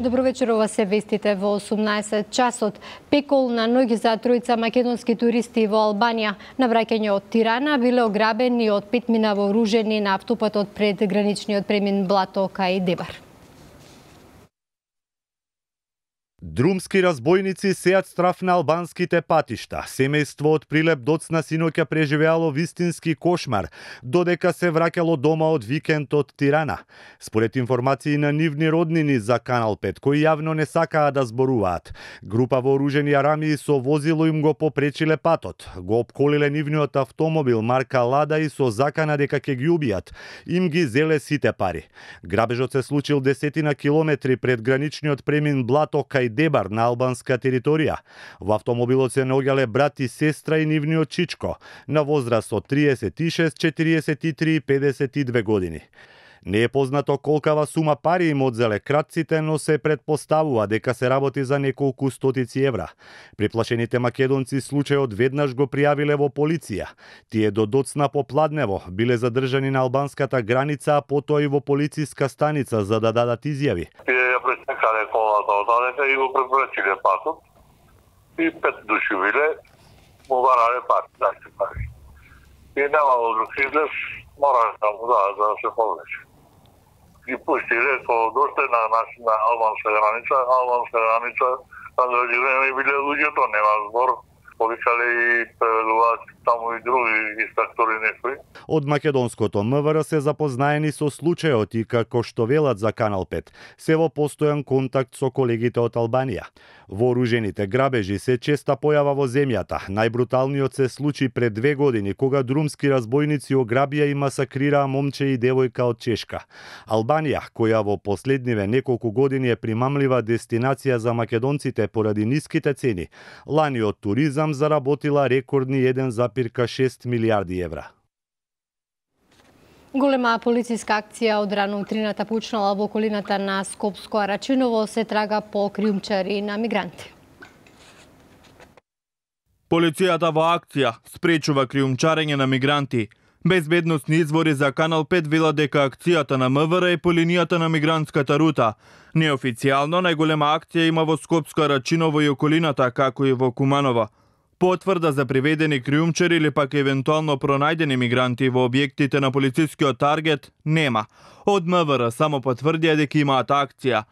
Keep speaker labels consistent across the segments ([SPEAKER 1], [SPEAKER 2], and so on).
[SPEAKER 1] Добро вечер, ова се вестите во 18 часот. Пекол на ноги за тројца македонски туристи во Албанија. На враќање од Тирана биле ограбени од 5 мина вооружени на автопатот пред граничниот премин Блато кај Дебар.
[SPEAKER 2] Друмски разбойници сеат страф на албанските патишта. Семејство од Прилеп доцна синоќа преживеало вистински кошмар, додека се враќало дома од викенд од Тирана. Според информации на нивни роднини за Канал 5, кои јавно не сакаа да зборуваат, група вооружени арамии со возило им го попречиле патот. Го обколиле нивниот автомобил марка Лада и со закана дека ќе ги убијат. Им ги зеле сите пари. Грабежот се случил 10 километри пред граничниот премин Блато кај Дебар на албанска територија. Во автомобилот се наоѓале брат и сестра и нивниот чичко, на возраст од 36, 43 и 52 години. Не е познато колкава сума пари им одзеле кратците, но се предпоставува дека се работи за неколку стотици евра. Приплашените македонци случајот веднаш го пријавиле во полиција. Тие до доцна попладнево биле задржани на албанската граница, а потоа и во полициска станица за да дадат изјави.
[SPEAKER 3] Пресекале колата одалека и го препречиле патот. И 5 души биле, му барале пари. И немало друг излез, морале да му дадат за да се повлече. И пуштиле, кога доште на албанска граница, на други време биле луѓето, нема збор. Повикале и преведуваат таму и други инспектори некои.
[SPEAKER 2] Од македонското МВР се запознаени со случајот и како што велат за Канал 5, се во постојан контакт со колегите од Албанија. Вооружените грабежи се честа појава во земјата. Најбруталниот се случи пред 2 години, кога друмски разбойници ограбија и масакрираа момче и девојка од Чешка. Албанија, која во последниве неколку години е примамлива дестинација за македонците поради ниските цени, лани од туризам заработила рекордни 1,6 милијарди евра.
[SPEAKER 1] Голема полициска акција од рано утрината почнала во околината на Скопско Арачиново, се трага по криумчари на мигранти.
[SPEAKER 4] Полицијата во акција спречува криумчарење на мигранти. Безбедносни извори за Канал 5 велат дека акцијата на МВР е по линијата на мигрантската рута. Неофицијално најголема акција има во Скопско Арачиново и околината, како и во Куманово. Потврда за приведени криумчари или пак евентуално пронајдени мигранти во објектите на полицискиот таргет нема. Од МВР само потврдија дека имаат акција.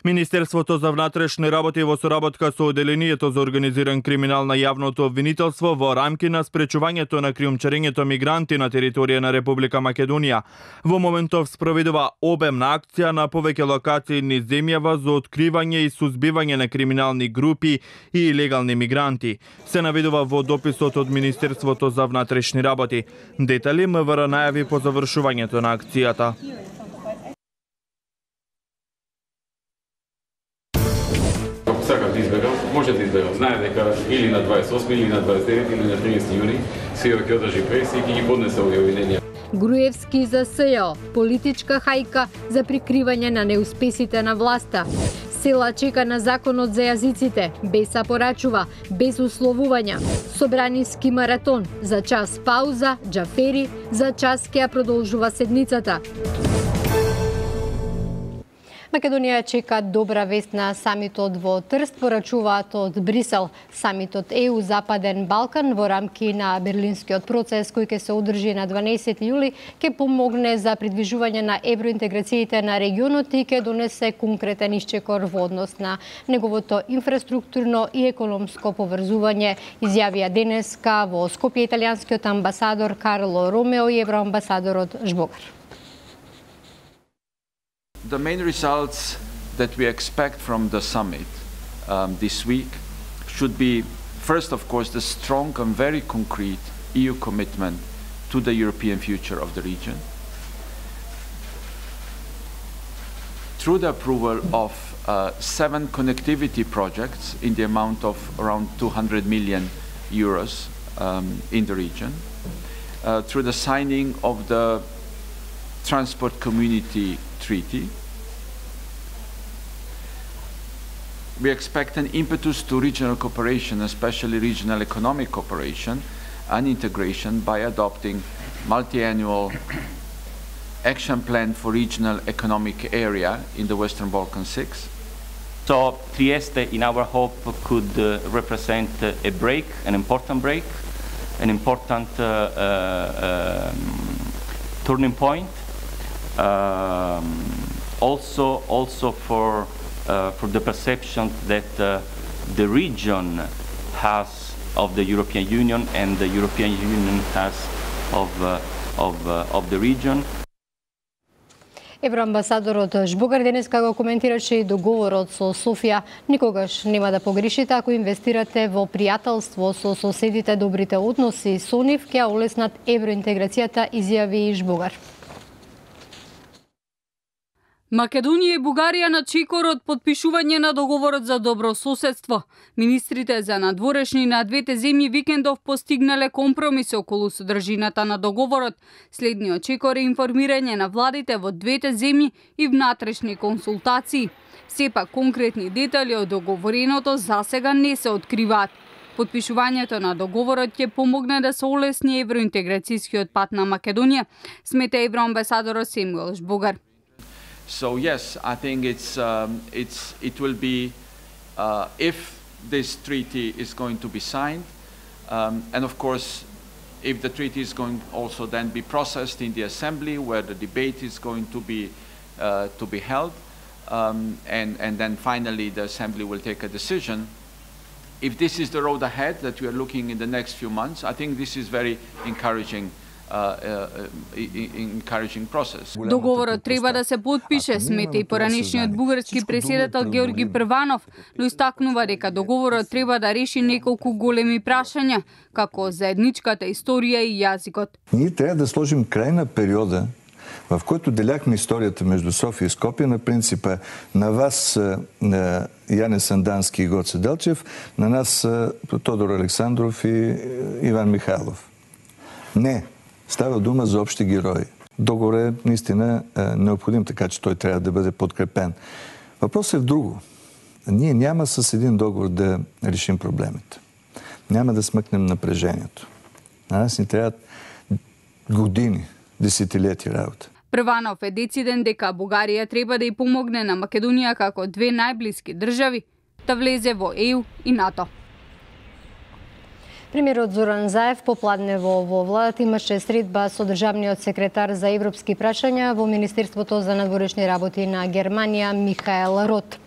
[SPEAKER 4] Министерството за внатрешни работи во соработка со Оделението за организиран криминал на јавното обвинителство во рамки на спречувањето на криумчарењето мигранти на територија на Република Македонија во моментов спроведува обемна акција на повеќе локации низ земјава за откривање и сузбивање на криминални групи и илегални мигранти. Се наведува во дописот од Министерството за внатрешни работи. Детали МВР најави по завршувањето на акцијата.
[SPEAKER 5] Може да изберам. Знае дека или на 28, или на 29, или на 30 јуни СИО ќе одржи пресија и ќе ги поднесе овие обвиненија.
[SPEAKER 1] Груевски за СЈО, политичка хајка за прикривање на неуспесите на власта. Села чека на законот за јазиците, без порачува, без условувања. Собраниски маратон, за час пауза, Џафери, за час ќе ја продолжува седницата. Македонија чека добра вест на самитот во Трст, порачуваат од Брисел. Самитот ЕУ Западен Балкан во рамки на Берлинскиот процес кој ќе се одржи на 12 јули ќе помогне за придвижување на евроинтеграциите на регионот и ќе донесе конкретен исчекор во однос на неговото инфраструктурно и економско поврзување, изјавија денеска во Скопје италијанскиот амбасадор Карло Ромео и евроамбасадорот Жбогар.
[SPEAKER 6] The main results that we expect from the summit this week should be, first, of course, the strong and very concrete EU commitment to the European future of the region, through the approval of 7 connectivity projects in the amount of around 200 million euros in the region, through the signing of the Transport Community Treaty. We expect an impetus to regional cooperation, especially regional economic cooperation and integration, by adopting multi-annual action plan for regional economic area in the Western Balkans 6,
[SPEAKER 7] So Trieste, in our hope, could represent a break, an important turning point. Also for the perception that the region has of the European Union and the European Union has of the region.
[SPEAKER 1] Евроамбасадорот Жбогар денеска го коментираше и договорот со Софија. Никогаш нема да погрешите ако инвестирате во пријателство со соседите. Добрите односи со нив ќе олеснат евроинтеграцијата, изјави Жбогар.
[SPEAKER 8] Македонија и Бугарија на чекор од подпишување на договорот за добро соседство. Министрите за надворешни на двете земји викендов постигнале компромис околу содржината на договорот. Следниот чекор е информирање на владите во двете земји и внатрешни консултации. Сепак конкретни детали од договореното засега не се откриваат. Подпишувањето на договорот ќе помогне да се олесни евроинтеграцијскиот пат на Македонија, смета евроамбасадорот Семуел Жбогар.
[SPEAKER 6] So yes, I think it will be if this treaty is going to be signed, and of course, if the treaty is going also then be processed in the assembly, where the debate is going to be held, and then finally the assembly will take a decision. If this is the road ahead that we are looking in the next few months, I think this is very encouraging process.
[SPEAKER 8] Договорот треба да се подпише, смета и поранешниот бугарски претседател Георги Прванов, но истакнува дека договорот треба да реши неколку големи прашања, како заедничката историја и јазикот.
[SPEAKER 9] Ние треба да сложим крај на периода в който деляхме историјата меѓу Софија и Скопје на принципа на вас Јане Сандански и Гоце Делчев, на нас Тодор Александров и Иван Михайлов. Не, става дума за општи герои. Договор е наистина необходим, така че той трябва да бъде подкрепен. Въпросът е в друго. Ние няма с един договор да решим проблемите. Няма да смъкнем напрежението. На нас ни трябват години, десетилетия работа.
[SPEAKER 8] Прванов е дециден дека Бугарија треба да ја помогне на Македонија како две најблиски држави да влезе во ЕУ и НАТО.
[SPEAKER 1] Премиерот Зоран Заев попладнево во владата имаше средба со државниот секретар за европски прашања во Министерството за надворешни работи на Германија Михаел Рот.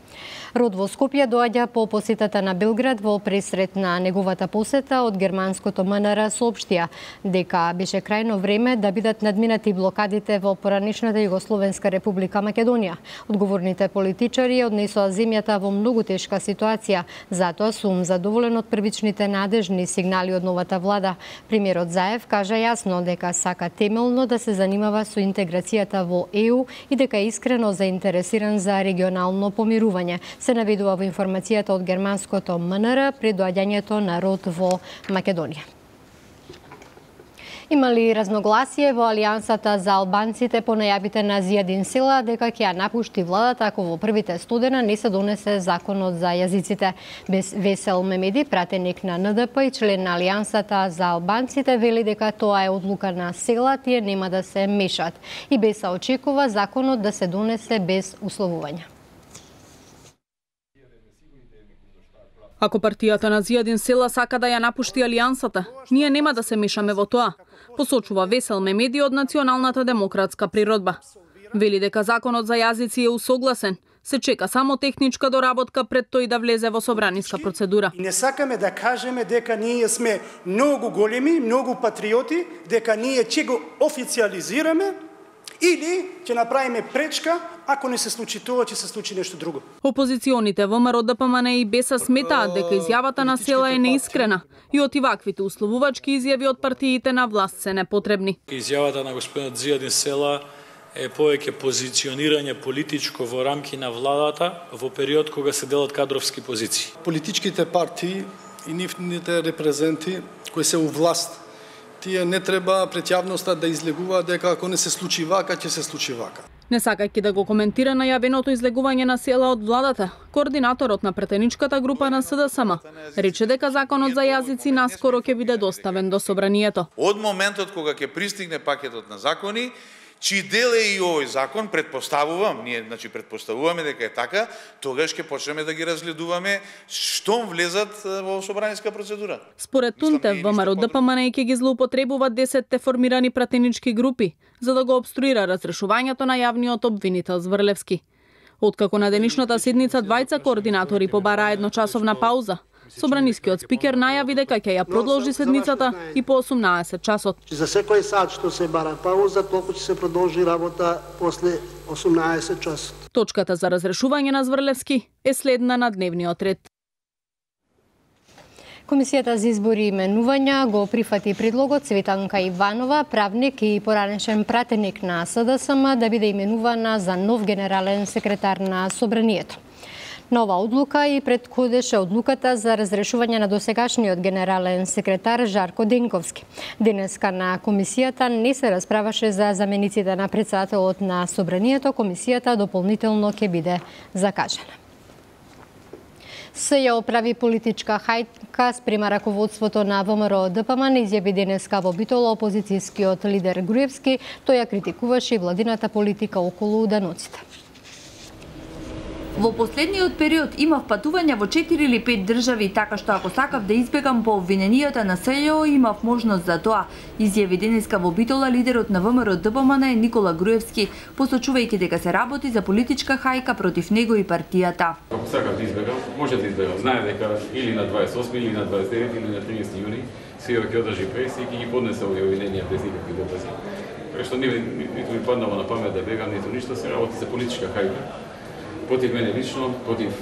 [SPEAKER 1] Рот во Скопје доаѓа по посетата на Белград. Во пресрет на неговата посета од германското МНР соопштија дека беше крајно време да бидат надминати блокадите во поранешната Југословенска република Македонија. Одговорните политичари однесоа земјата во многу тешка ситуација, затоа сум задоволен од првичните надежни сигнали од новата влада. Премиерот Заев кажа јасно дека сака темелно да се занимава со интеграцијата во ЕУ и дека е искрено заинтересиран за регионално помирување. Се наведува во информацијата од германското МНР пред доаѓањето на Рот во Македонија. Имали разногласие во Алијансата за албанците по најавите на Зијадин Села дека ќе ја напушти владата ако во првите 100 дена не се донесе законот за јазиците. Весел Мемеди, пратеник на НДП и член на Алијансата за албанците, вели дека тоа е одлука на Села, тие нема да се мешат. И Беса очекува законот да се донесе без условувања.
[SPEAKER 10] Ако партијата на Зијадин Села сака да ја напушти Алијансата, ние нема да се мешаме во тоа, посочува Весел Мемеди од Националната демократска природба. Вели дека законот за јазици е усогласен, се чека само техничка доработка пред тој да влезе во собраниска процедура.
[SPEAKER 11] Не сакаме да кажеме дека ние сме многу големи, многу патриоти, дека ние ќе го официализираме или ќе направиме пречка, ако не се случи тоа, ќе се случи нешто друго.
[SPEAKER 10] Опозиционите ВМРО, ДПМН и Беса сметаат дека изјавата на Села е неискрена и оти ваквите условувачки изјави од партиите на власт се непотребни.
[SPEAKER 12] Изјавата на господинот Зијадин Села е повеќе позиционирање политичко во рамки на владата во период кога се делат кадровски позиции.
[SPEAKER 13] Политичките партии и нивните репрезенти кои се у власт, тие не треба пред јавноста да излегуваат дека ако не се случи вака, ќе се случи вака.
[SPEAKER 10] Не сакајќи да го коментира најавеното излегување на Села од владата, координаторот на претеничката група на СДСМ рече дека законот за јазици наскоро ќе биде доставен до собранието.
[SPEAKER 14] Од моментот кога ќе пристигне пакетот на закони, чиј дел е и овој закон, предпоставувам, ние предпоставуваме дека е така, тогаш ќе почнеме да ги разгледуваме штом влезат во собраниска процедура.
[SPEAKER 10] Според Тунте, ВМРО ДПМН ќе ги злоупотребуваат 10 формирани пратенички групи за да го обструира разрешувањето на јавниот обвинител Зврлевски. Откако на денешната седница двајца координатори побараа едночасовна пауза, собранискиот спикер најави дека ќе ја продолжи седницата и по 18 часот.
[SPEAKER 15] За секој сат што се бара пауза, толку ќе се продолжи работа после 18 часот.
[SPEAKER 10] Точката за разрешување на Зврлевски е следна на дневниот ред.
[SPEAKER 1] Комисијата за избори и именувања го прифати предлогот Цветанка Иванова, правник и поранешен пратеник на СДСМ, да биде именувана за нов генерален секретар на Собранието. Нова одлука и предходеше одлуката за разрешување на досегашниот генерален секретар Жарко Денковски. Денеска на комисијата не се расправаше за замениците на претседателот на Собранието, комисијата дополнително ќе биде закажана. Се ја оправи политичка хајка спрема раководството на ВМРО ДПМН, изјави денеска во Битола опозицијскиот лидер Груевски. Тој ја критикуваше и владината политика околу даноците.
[SPEAKER 16] Во последниот период имав патувања во 4 или 5 држави, така што ако сакав да избегам по обвиненијата на СЈО, имав можност за тоа, изјави денеска во Битола лидерот на ВМРО ДПМН Никола Груевски, посочувајќи дека се работи за политичка хајка против него и партијата.
[SPEAKER 5] Ако сакав да избегам, може да избегам. Знае дека или на 28, или на 29, или на 30 јуни СЈО ќе одржи преси и ќе ги поднесе овие обвиненија без никакви докази. Така што ниту ми паднало на памет да бегам, ниту ништо, се работи за политичка хајка. Против мене лично, против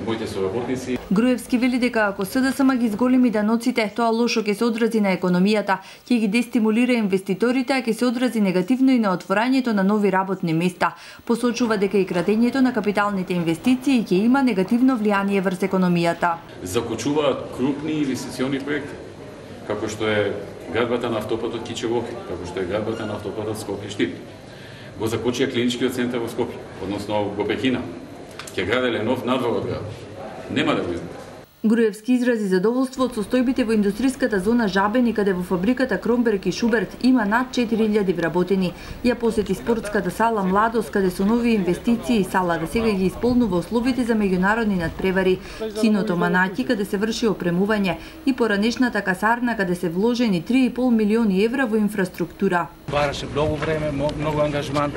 [SPEAKER 5] моите соработници.
[SPEAKER 16] Груевски вели дека ако СДСМ ги зголеми даноците, тоа лошо ќе се одрази на економијата, ќе ги дестимулира инвеститорите, а ќе се одрази негативно и на отворањето на нови работни места. Посочува дека и крадењето на капиталните инвестиции ќе има негативно влијание врз економијата.
[SPEAKER 5] Закочуваат крупни инвестициони проекти, како што е градбата на автопатот Кичевоки, како што е градбата на автопатот Скопје-Штип. Го закочија клиничкиот центар во Скопје, односно го прекина. Ќе граделе нов надвор од град. Нема да го издаде.
[SPEAKER 16] Груевски изрази задоволство од состојбите во индустријската зона Жабени, каде во фабриката Кромберг и Шуберт има над 4000 вработени. Ја посети спортската сала Младост, каде со нови инвестиции салата сега ги исполнува условите за меѓународни надпревари, киното Манаќи, каде се врши опремување, и поранешната касарна, каде се вложени 3,5 милиони евра во инфраструктура.
[SPEAKER 17] Бараше многу време, многу ангажман,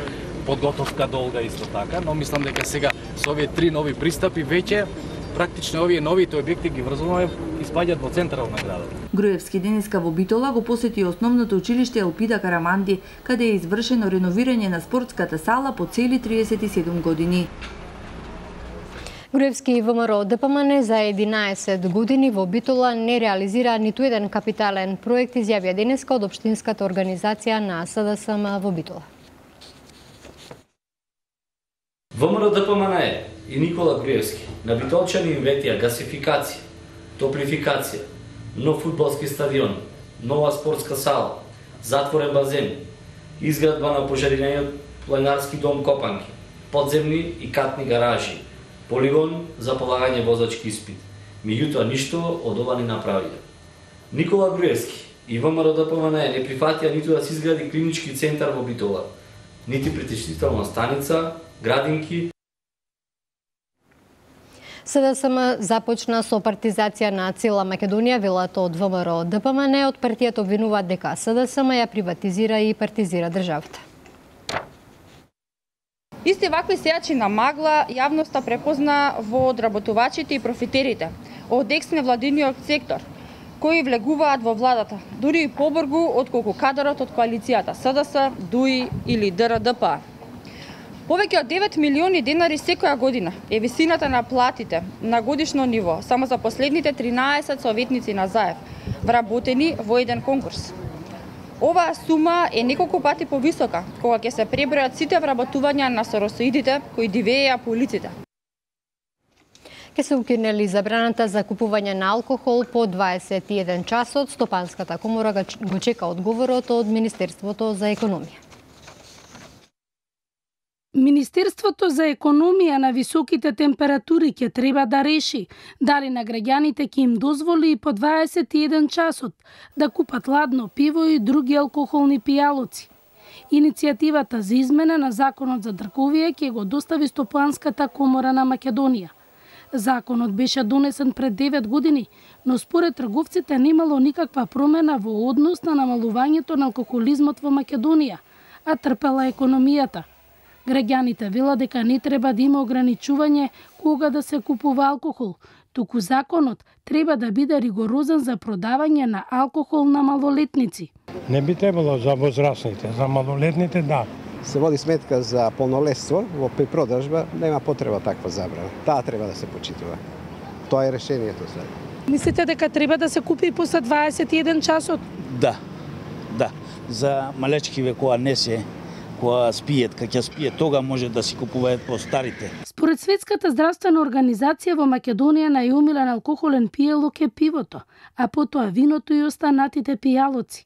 [SPEAKER 17] подготовка долга исто така, но мислам дека сега со овие 3 нови пристапи веќе практично овие новите објекти ги врзуваме и спаѓаат во центарот на градот.
[SPEAKER 16] Груевски денеска во Битола го посети основното училиште Елпида Караманди, каде е извршено реновирање на спортската сала по цели 37 години.
[SPEAKER 1] Груевски и ВМРО ДПМН за 11 години во Битола не реализира ниту еден капитален проект, изјавија денеска од општинската организација на СДСМ во Битола.
[SPEAKER 18] ВМРО ДПМН и Никола Груевски на битолчани им ветија гасификација, топлификација, нов фудбалски стадион, нова спортска сала, затворен базен, изградба на пожариниот планинарски дом Копанки, подземни и катни гаражи, полигон за полагање возачки испит. Меѓутоа ништо од ова не направија. Никола Груевски и ВМРО ДПМН не прифатија ниту да се изгради клинички центар во Битола, нити претештителна станица, градинки.
[SPEAKER 1] СДСМ започна со партизација на цела Македонија, велат од ВМРО ДПМН. Од партијата обвинуваат дека СДСМ ја приватизира и партизира државата.
[SPEAKER 19] Исти вакви сејачи на магла јавноста препозна во одработувачите и профитерите од екс-невладиниот сектор, кои влегуваат во владата, дури и побргу отколку кадарот од коалицијата СДС, ДУИ или ДРДП. Повеќе од 9 милиони денари секоја година е висината на платите на годишно ниво само за последните 13 советници на ЗАЕВ, вработени во еден конкурс. Оваа сума е неколку пати повисока кога ќе се пребројат сите вработувања на соросоидите кои дивееја по улиците.
[SPEAKER 1] Ке се укинели забраната за купување на алкохол по 21 часот. Стопанската комора го чека одговорот од Министерството за економија.
[SPEAKER 20] Министерството за економија на високите температури ќе треба да реши дали на граѓаните ќе им дозволи и по 21 часот да купат ладно пиво и други алкохолни пијалоци. Иницијативата за измена на законот за дрговија ќе го достави Стопанската комора на Македонија. Законот беше донесен пред 9 години, но според трговците немало никаква промена во однос на намалувањето на алкохолизмот во Македонија, а трпела економијата. Граѓаните велат дека не треба да има ограничување кога да се купува алкохол, туку законот треба да биде ригорозен за продавање на алкохол на малолетници.
[SPEAKER 21] Не би требало за возрастните, за малолетните да.
[SPEAKER 22] Се води сметка за полнолетство, во препродажба нема потреба таква забрана. Таа треба да се почитува. Тоа е решението сега.
[SPEAKER 20] Мислите дека треба да се купи после 21 часот?
[SPEAKER 23] Да. За малечкиве која не се, која спиет, кога ќе спиет, тога може да си купуваат по старите.
[SPEAKER 20] Според Светската здравствена организација во Македонија најомилен алкохолен пијалок е пивото, а потоа виното и останатите пијалоци.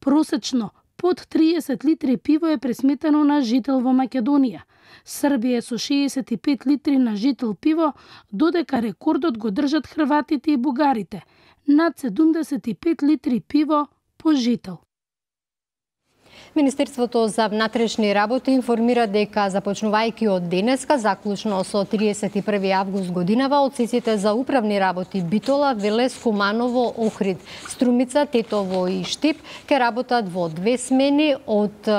[SPEAKER 20] Просечно под 30 литри пиво е пресметено на жител во Македонија. Србија е со 65 литри на жител пиво, додека рекордот го држат хрватите и бугарите, над 75 литри пиво по жител.
[SPEAKER 1] Министерството за внатрешни работи информира дека започнувајќи од денеска, заклучно со 31 август годинава, одсеците за управни работи Битола, Велес, Куманово, Охрид, Струмица, Тетово и Штип ќе работат во 2 смени од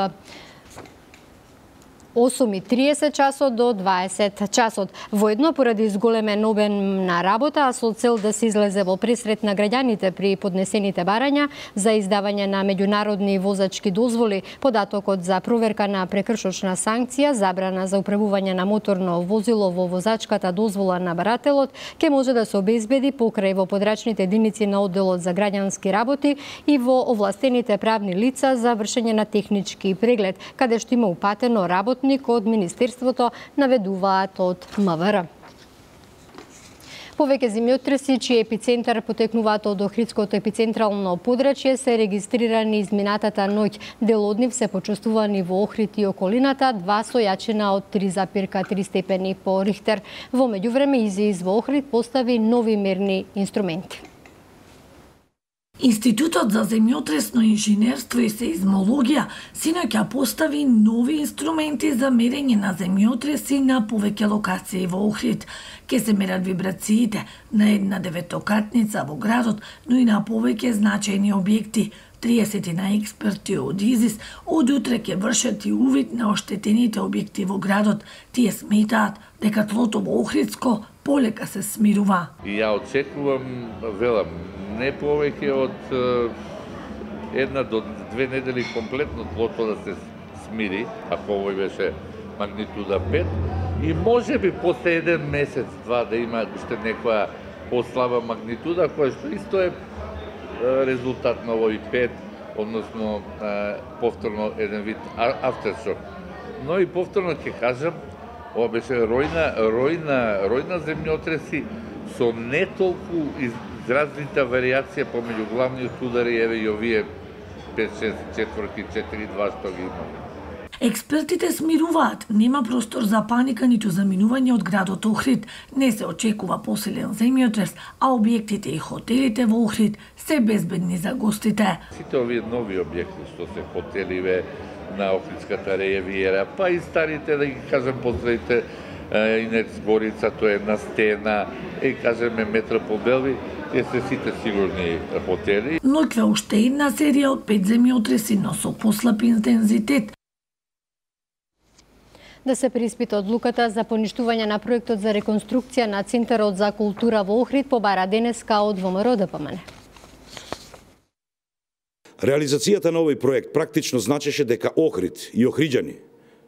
[SPEAKER 1] 8:30 часот до 20 часот. Воедно поради изголемен обем на работа, а со цел да се излезе во пресрет на граѓаните при поднесените барања за издавање на меѓународни возачки дозволи, податокот за проверка на прекршочна санкција, забрана за управување на моторно возило во возачката дозвола на барателот, ќе може да се обезбеди покрај во подрачните единици на одделот за граѓански работи и во овластените правни лица за вршење на технички преглед, каде што има упатено работник од Министерството, наведуваат од МВР. Повеќе земјотреси, чиј епицентар потекнуваат од Охридското епицентрално подрачје, се регистрирани изминатата ноќ. Дел од нив се почувствувани во Охрид и околината, 2 со јачина од 3,3 степени по Рихтер. Во меѓувреме ИЗИС во Охрид постави нови мерни инструменти.
[SPEAKER 24] Институтот за земјотресно инженерство и сеизмологија синоќа постави нови инструменти за мерење на земјотреси на повеќе локации во Охрид. Ке се мерат вибрациите на една деветокатница во градот, но и на повеќе значајни објекти. 30 на експерти од ИЗИС од утре ќе вршат и увид на оштетените објекти во градот. Тие сметаат дека тлото во Охридско полека се смирува.
[SPEAKER 25] И ја очекувам, велам, не повеќе од 1 до 2 недели комплетно тлото да се смири, ако овој беше магнитуда 5, и може би после 1 месец, 2 да има уште некоја послаба магнитуда, која што исто е резултат на овој 5, односно повторно еден вид aftershock. Но и повторно ќе кажам, ова беше ројна земјотреси со не толку изразита варијација помеѓу главниот удар и еве и овие 5-6 четврти 4-2 што ги имаме.
[SPEAKER 24] Експертите смируваат, нема простор за паника ниту за минување од градот Охрид. Не се очекува посилен земјотрес, а објектите и хотелите во Охрид се безбедни за гостите.
[SPEAKER 25] Сите овие нови објекти што се хотеливе на Охридската ривиера, па и старите, да ги кажам, последните Инец Горица, тоа е една стена, и кажеме Метропол Белви, тие се сите сигурни хотели.
[SPEAKER 24] Ноќве уште една серија од 5 земјотреси, но со послаб интензитет.
[SPEAKER 1] Да се преиспита одлуката за поништување на проектот за реконструкција на Центарот за култура во Охрид побара денеска од ВМРО ДПМН.
[SPEAKER 26] Реализацијата на овој проект практично значеше дека Охрид и охриѓани,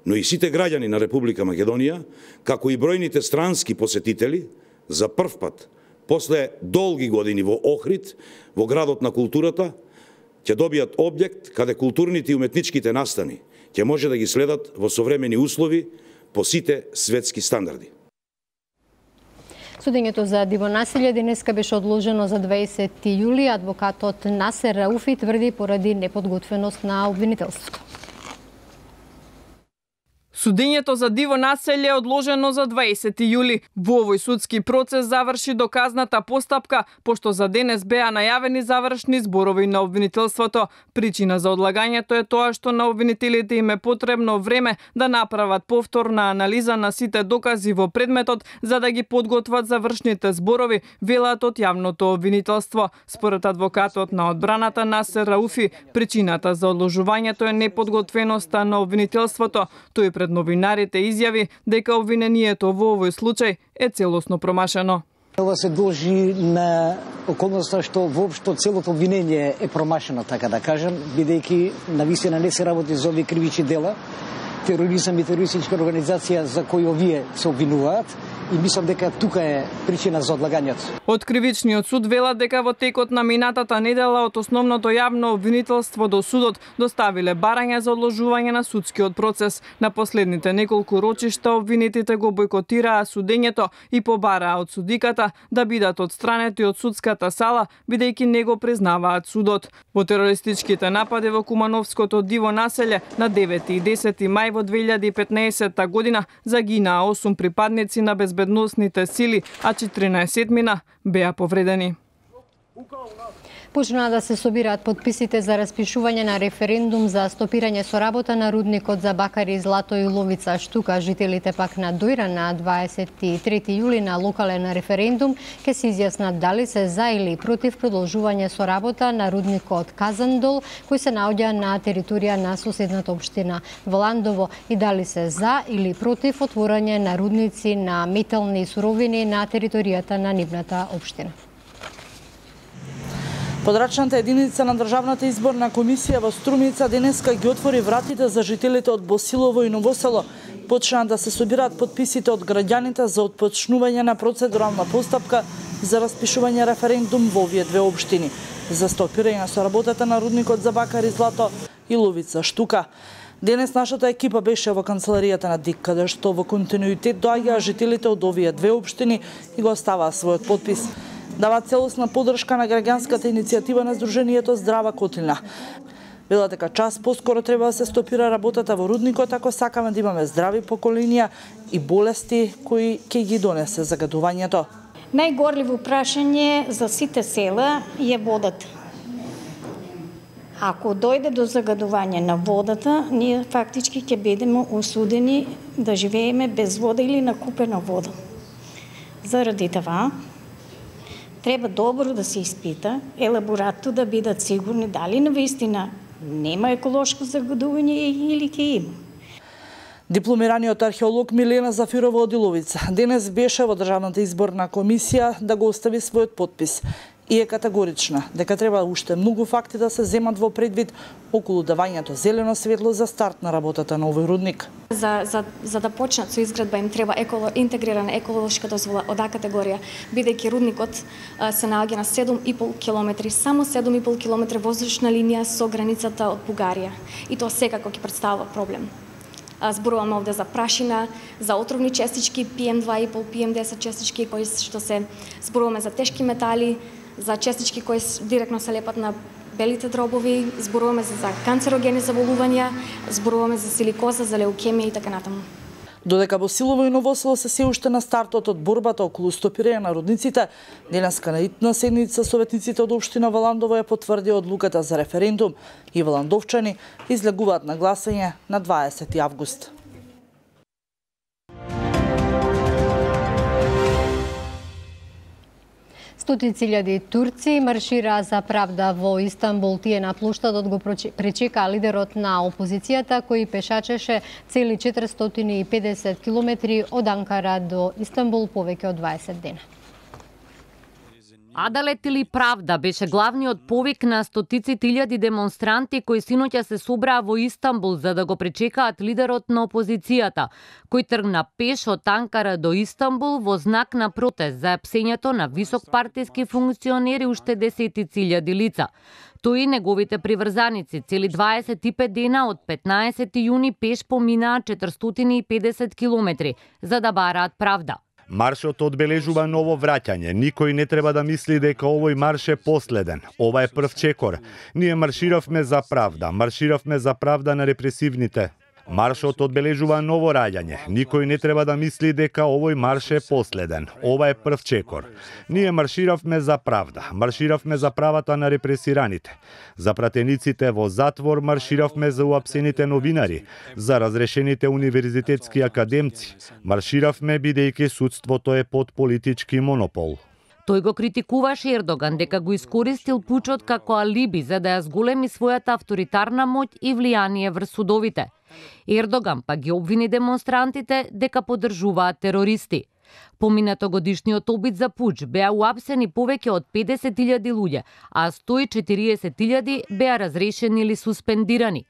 [SPEAKER 26] но и сите граѓани на Република Македонија, како и бројните странски посетители, за прв пат, после долги години во Охрид, во градот на културата, ќе добијат објект каде културните и уметничките настани ќе може да ги следат во современи услови по сите светски стандарди.
[SPEAKER 1] Судењето за диво насилје денеска беше одложено за 20 јули. Адвокатот Насер Рауфи тврди поради неподготвеност на обвинителството.
[SPEAKER 10] Судењето за диво населје е одложено за 20 јули. Во овој судски процес заврши доказната постапка, пошто за денес беа најавени завршни зборови на обвинителството. Причина за одлагањето е тоа што на обвинителите им е потребно време да направат повторна анализа на сите докази во предметот за да ги подготват завршните зборови, велат од јавното обвинителство. Според адвокатот на одбраната Насер Рауфи, причината за одложувањето е неподготвеноста на обвинителството. Тој пред новинарите изјави дека обвинението во овој случај е целосно промашено.
[SPEAKER 2] Ова се должи на околноста што воопшто целото обвинение е промашено, така да кажем, бидејќи навистина не се работи за овие кривични дела, тероризам и терористичка организација за кои овие се обвинуваат, и мислам дека тука е причина за одлагањето.
[SPEAKER 10] Од кривичниот суд велат дека во текот на минатата недела од основното јавно обвинителство до судот доставиле барања за одложување на судскиот процес. На последните неколку рочишта обвинетите го бойкотираа судењето и побараа од судиката да бидат отстранети од судската сала, бидејќи не го признаваат судот. Во терористичките напади во Кумановското диво населје на 9 и 10 мај во 2015 година загинаа 8 припадници на безбедносните сили, а 14 беа повредени.
[SPEAKER 1] Почнаа да се собираат подписите за распишување на референдум за стопирање со работа на рудникот за бакари Злато и Ловица Штука. Жителите пак на Дојра на 23 јули на локален референдум ќе се изјаснат дали се за или против продолжување со работа на рудникот Казандол, кој се наоѓа на територија на соседната општина Валандово, и дали се за или против отворање на рудници на метални суровини на територијата на нивната општина.
[SPEAKER 3] Подрачната единица на Државната изборна комисија во Струмица денеска ги отвори вратите за жителите од Босилово и Новосело. Почнаа да се собираат подписите од граѓаните за отпочнување на процедурална постапка за распишување референдум во овие две општини за стопирање со работата на рудникот за бакари Злато и Ловица Штука. Денес нашата екипа беше во канцеларијата на ДИК, каде што во континуитет доаѓаа жителите од овие две општини и го оставаа својот подпис. Дава целосна поддршка на граѓанската иницијатива на Сдруженијето Здрава Котилна. Велат дека час поскоро треба да се стопира работата во рудникот ако сакаме да имаме здрави поколенија и болести кои ќе ги донесе загадувањето.
[SPEAKER 4] Најгорливо прашање за сите села е водата. Ако дојде до загадување на водата, ние фактички ќе бидеме осудени да живееме без вода или на купена вода. Заради това треба добро да се испита, елаборатто да бидат сигурни дали навистина нема еколошко загадување или ќе има.
[SPEAKER 3] Дипломираниот археолог Милена Зафирова од Иловица денес беше во Државната изборна комисија да го остави својот подпис и е категорична дека треба уште многу факти да се земат во предвид околу давањето зелено светло за старт на работата на овој рудник.
[SPEAKER 6] За да почнат со изградба им треба интегрирана еколошка дозвола од А категорија, бидејќи рудникот се наоѓа на 7,5 километри, само 7,5 километри воздушна линија со границата од Бугарија. И тоа секако ќе представува проблем. Зборуваме овде за прашина, за отровни честички, PM2,5, PM10 честички, кои што се зборуваме за тешки метали, за честички кои директно се лепат на белите дробови, зборуваме за канцерогени заболувања, зборуваме за силикоза, за леукемија и така натаму.
[SPEAKER 3] Додека Босилово и Новосело се уште на стартот од борбата околу стопирање на рудниците, денеска на итна седница советниците од општина Валандово ја потврдија одлуката за референдум и валандовчани излегуваат на гласање на 20 август.
[SPEAKER 1] Стотици илјади турци маршираа за правда во Истанбул. Тие на плоштадот го пречекаа лидерот на опозицијата кој пешачеше цели 450 километри од Анкара до Истанбул повеќе од 20 дена.
[SPEAKER 7] Адалет или правда беше главниот повик на стотиците илјади демонстранти кои синоќа се собраа во Истанбул за да го пречекаат лидерот на опозицијата, кој тргна пеш од Анкара до Истанбул во знак на протест за апсењето на високпартиски функционери уште десетици илјади лица. Тој и неговите приврзаници цели 25 дена од 15 јуни пеш поминаа 450 километри за да бараат правда.
[SPEAKER 9] Маршот одбележува ново враќање. Никој не треба да мисли дека овој марш е последен. Ова е прв чекор. Ние марширавме за правда. Марширавме за правда на репресивните. Маршот одбележува ново раѓање. Никој не треба да мисли дека овој марш е последен. Ова е прв чекор. Ние марширавме за правда. Марширавме за правата на репресираните. За пратениците во затвор марширавме за уапсените новинари, за разрешените универзитетски академци. Марширавме бидејќи судството е под политички монопол.
[SPEAKER 7] Тој го критикуваше Ердоган дека го искористил пучот како алиби за да ја зголеми својата авторитарна моќ и влијание врз судовите. Ердоган па ги обвини демонстрантите дека поддржуваат терористи. Поминато годишниот обид за пуч беа уапсени повеќе од 50.000 луѓе, а 140.000 беа разрешени или суспендирани.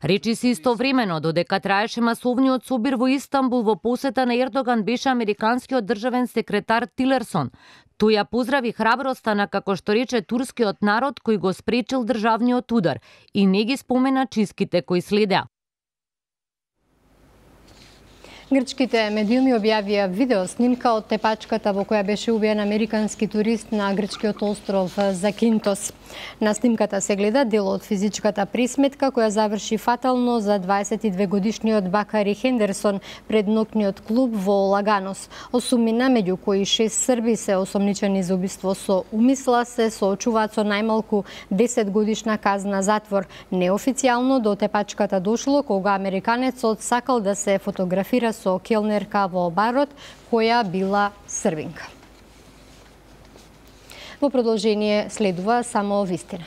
[SPEAKER 7] Речи се истовремено додека траеше масовниот собир во Истанбул во посета на Ердоган беше американскиот државен секретар Тилерсон. Тој ја поздрави храброста на, како што рече, турскиот народ кој го спречил државниот удар и не ги спомена чистките кои следеа.
[SPEAKER 1] Грчките медиуми објавија видео снимка од тепачката во која беше убиен американски турист на грчкиот остров Закинтос. На снимката се гледа дел од физичката пресметка која заврши фатално за 22-годишниот Бакари Хендерсон пред ноќниот клуб во Лаганос. Осумина, меѓу кои 6 срби се осомничени за убиство со умисла, се соочуваат со најмалку 10 годишна казна затвор. Неофицијално до тепачката дошло кога американецот сакал да се фотографира со келнерка во барот, која била србинка. Во продолжение следува само вистина.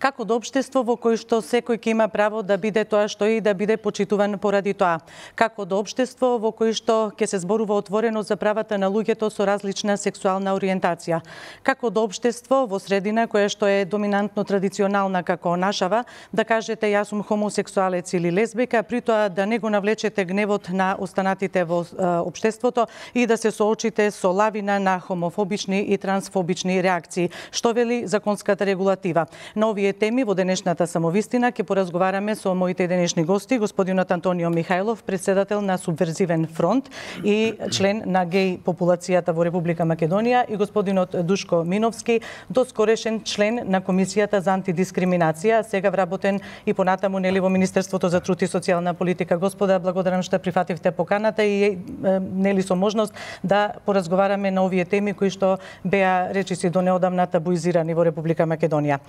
[SPEAKER 3] Како до општество во кој што секој ќе има право да биде тоа што е и да биде почитуван поради тоа. Како до општество во кој што ќе се зборува отворено за правата на луѓето со различна сексуална ориентација. Како до општество во средина која што е доминантно традиционална како нашава, да кажете јас сум хомосексуалец или лесбика, при тоа да не го навлечете гневот на останатите во општеството и да се соочите со лавина на хомофобични и трансфобични реакции. Што вели законската регулатива? На овие теми во денешната самовистина ќе поразговараме со моите денешни гости, господинот Антонио Михајлов, председател на Субверзивен фронт и член на геј популацијата во Република Македонија, и господинот Душко Миновски, доскорешен член на Комисијата за антидискриминација, сега вработен и понатаму нели во Министерството за труд и социјална политика. Господа, благодарам што прифативте поканата и нели со можност да поразговараме на овие теми кои што беа речиси до неодамна табуизирани во Република Македонија.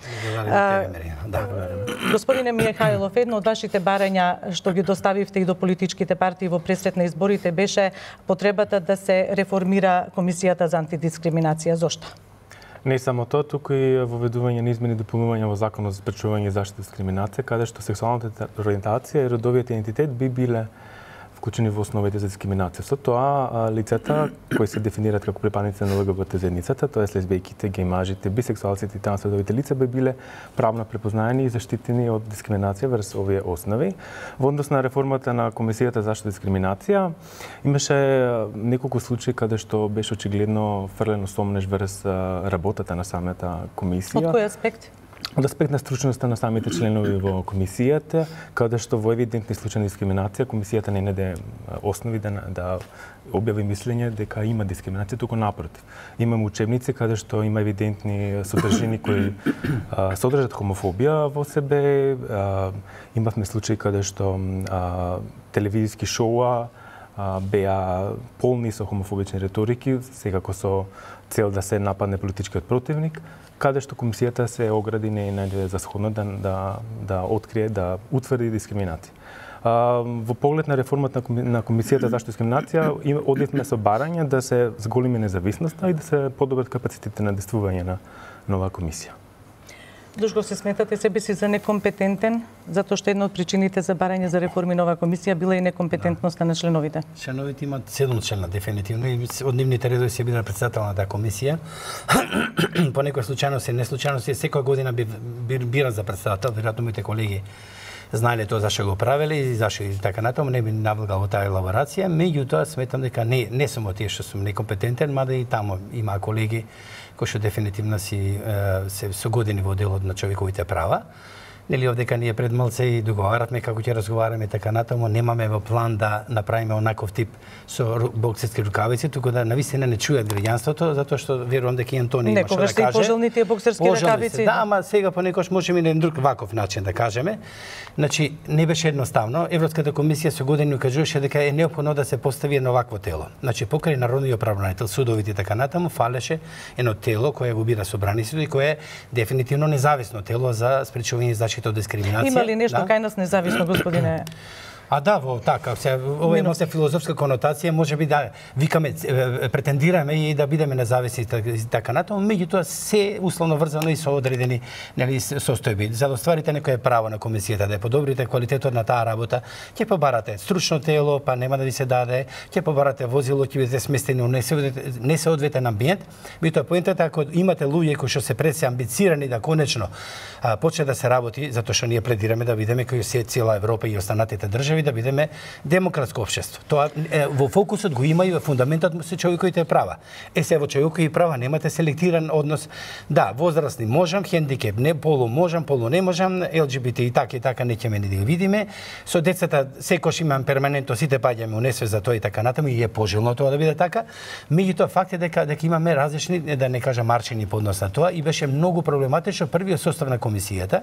[SPEAKER 3] Господине Михајлов, едно од вашите барања што ги доставивте и до политичките партии во пресрет на изборите беше потребата да се реформира Комисијата за антидискриминација. Зошто?
[SPEAKER 8] Не само тоа, туку и воведување на измени и дополнување во Законот за спречување и заштита дискриминација, каде што сексуалната ориентација и родовиот идентитет би биле вклучени во основите за дискриминација. Со тоа, лицата кои се дефинираат како припадници на ЛГБТ заедницата, тоа е лесбијките, гејмажите, бисексуалците и трансродовите лица, би биле правно препознаени и заштитени од дискриминација врз овие основи. Во однос на реформата на Комисијата за заштита дискриминација, имаше неколку случаи каде што беше очигледно фрлено сомнеж врз работата на самата комисија.
[SPEAKER 3] Од кој аспект?
[SPEAKER 8] Од аспект на стручноста на самите членови во комисијата, каде што во евидентни случаи на дискриминација, комисијата не најде основи да објави мислење дека има дискриминација, туку напротив. Имаме учебници каде што има евидентни содржини кои содржат хомофобија во себе. Имавме случаи каде што телевизиски шоуа беа полни со хомофобични реторики, секако со цел да се нападне политичкиот противник, каде што комисијата се огради не најде за сходно да открие, да утврди дискриминација. Во поглед на реформата на Комисијата за заштита дискриминација, одивме со барање да се зголеми независноста и да се подобрат капацитетите на действување на нова комисија.
[SPEAKER 3] Душко, се сметате себе си за некомпетентен, затоа што една од причините за барање за реформи нова комисија била и некомпетентноста на членовите?
[SPEAKER 11] Членовите имаат 7 члена дефинитивно и од нивните редови се бира председател на таа комисија. По некои случајности, неслучајности, секоја година бира за председател, веројатно моите колеги знаеле тоа зашто го правеле и зашто и така натаму, не би навлегал во таа елаборација. Меѓутоа сметам дека не само тие што сум некомпетентен, мада и таму има колеги кои што дефинитивно се со години во делот на човековите права. Нели овдека ние пред малце и договаравме како ќе разговараме така натаму, немаме во план да направиме онаков тип со боксерски рукавици, туку да навистина не чујат граѓанството, затоа што верувам дека и Антони има што да каже.
[SPEAKER 3] Некогаш се пожелни тие боксерски рукавици.
[SPEAKER 11] Да, ама сега понекогаш можеме и на друг ваков начин да кажеме. Значи не беше едноставно. Европската комисија со години кажуваше дека е неопходно да се постави едно вакво тело. Значи покрај народниот правобранител, судовите и така натаму фалеше едно тело кое го бира собраницето и кое е дефинитивно независно тело за спречување и заштита од дискриминација.
[SPEAKER 3] Има ли нешто кај нас независно, господине?
[SPEAKER 11] А да, во така, ова има се филозофска конотација, можеби да викаме, претендираме и да бидеме независни и така натаму, меѓутоа се условно врзано и со одредени нели состојби. За да остварите некое право на комисијата да ја подобрите квалитетот на таа работа, ќе побарате стручно тело, па нема да ви се даде, ќе побарате возило, ќе бидете сместени во несоодветен амбиент. Меѓутоа поентата ако имате луѓе кои што се преси амбицирани да конечно почне да се работи, затоа што ние пледираме да бидеме кои се цела Европа и останатите држави, да бидеме демократско општество. Тоа во фокусот го има и во фундаментот се човековите права. Се во човекови права немате селектиран однос. Да, возрастни можам, хендикеп не, полу можам, полу не можам, ЛГБТ и така не ќе да го видиме. Со децата секош имам перманентно сите паѓаме унесве за тоа и така натаму и е пожелно тоа да биде така. Меѓутоа факт е дека имаме различни, да не кажам марчини по однос на тоа и беше многу проблематично првиот состав на комисијата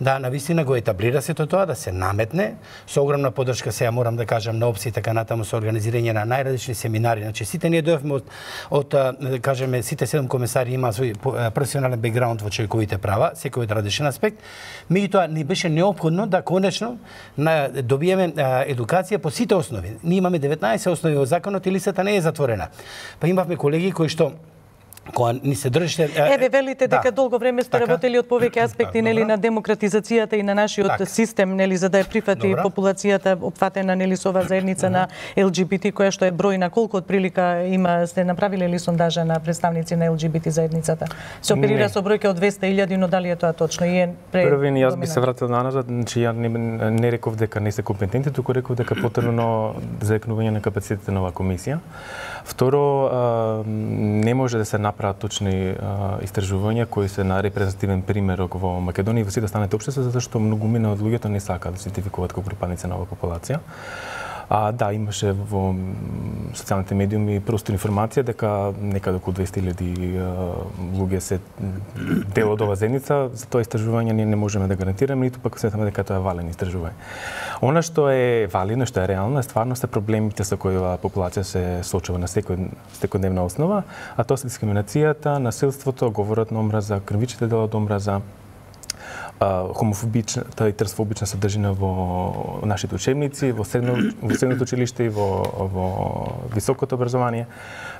[SPEAKER 11] да навистина го етаблира сето тоа, да се наметне со огромна поддршка, сега морам да кажам, на опции така натаму со организирање на најразлични семинари. Значи сите ние дојавме од да кажеме сите 7 комесари има свој професионален бекграунд во човековите права, секој од различен аспект. Меѓутоа ни беше неопходно да конечно добиеме едукација по сите основи. Ние имаме 19 основи во законот и листата не е затворена. Па имавме колеги кои што кога ни се држите...
[SPEAKER 3] Еве, велите дека долго време сте работели од повеќе аспекти нели на демократизацијата и на нашиот систем, нели за да ја прифати популацијата опфатена нели со оваа заедница на ЛГБТ, која што е бројна, колку отприлика има, сте направиле ли сондажа на представници на ЛГБТ заедницата? Се оперира со бројка од 200.000, но дали е тоа точно? И е
[SPEAKER 8] Првин, јас би се вратил назад, значи ја не реков дека не се компетентни, туку реков дека потребно заекнување на капацитетите на оваа комисија. Второ, не може да се направат точни истражувања кои се на репрезентативен пример во Македонија и во сите останати општества, затоа што многумина од луѓето не сакаат да се идентификуваат како припадници на оваа популација. Да, имаше во социјалните медиуми простор информација дека некаде околу 200.000 луѓе се дел од оваа заедница. За тоа истражување ние не можеме да гарантираме, ниту пак сметаме дека тоа е валено истражување. Она што е валидно, што е реално, е стварно се проблемите со кои оваа популација се соочува на секојдневна основа, а тоа се дискриминацијата, насилството, говорот на омраза, крвичните дела од омраза, хомофобичната и трансфобична содржина во нашите учебници, во средното училиште и во високото образование.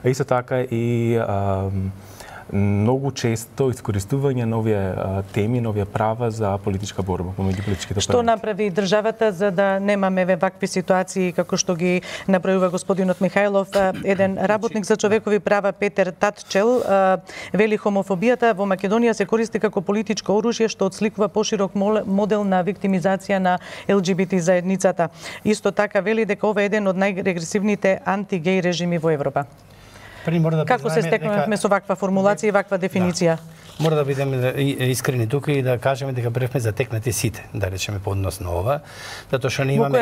[SPEAKER 8] А исто така и многу често искористување на овие теми, на овие права за политичка борба помеѓу политичките партии.
[SPEAKER 3] Што направи државата за да немаме вакви ситуации како што ги направува господинот Михајлов? Еден работник за човекови права, Петер Татчел, вели хомофобијата во Македонија се користи како политичко оружје што отсликува поширок модел на виктимизација на ЛГБТ заедницата. Исто така вели дека ова е еден од најрегресивните антигеј режими во Европа. Како се стекнавме со ваква формулација и ваква дефиниција?
[SPEAKER 11] Мора да бидеме искрени тука и да кажеме дека бевме затекнати сите, да речеме по однос на ова, затоа што не имаме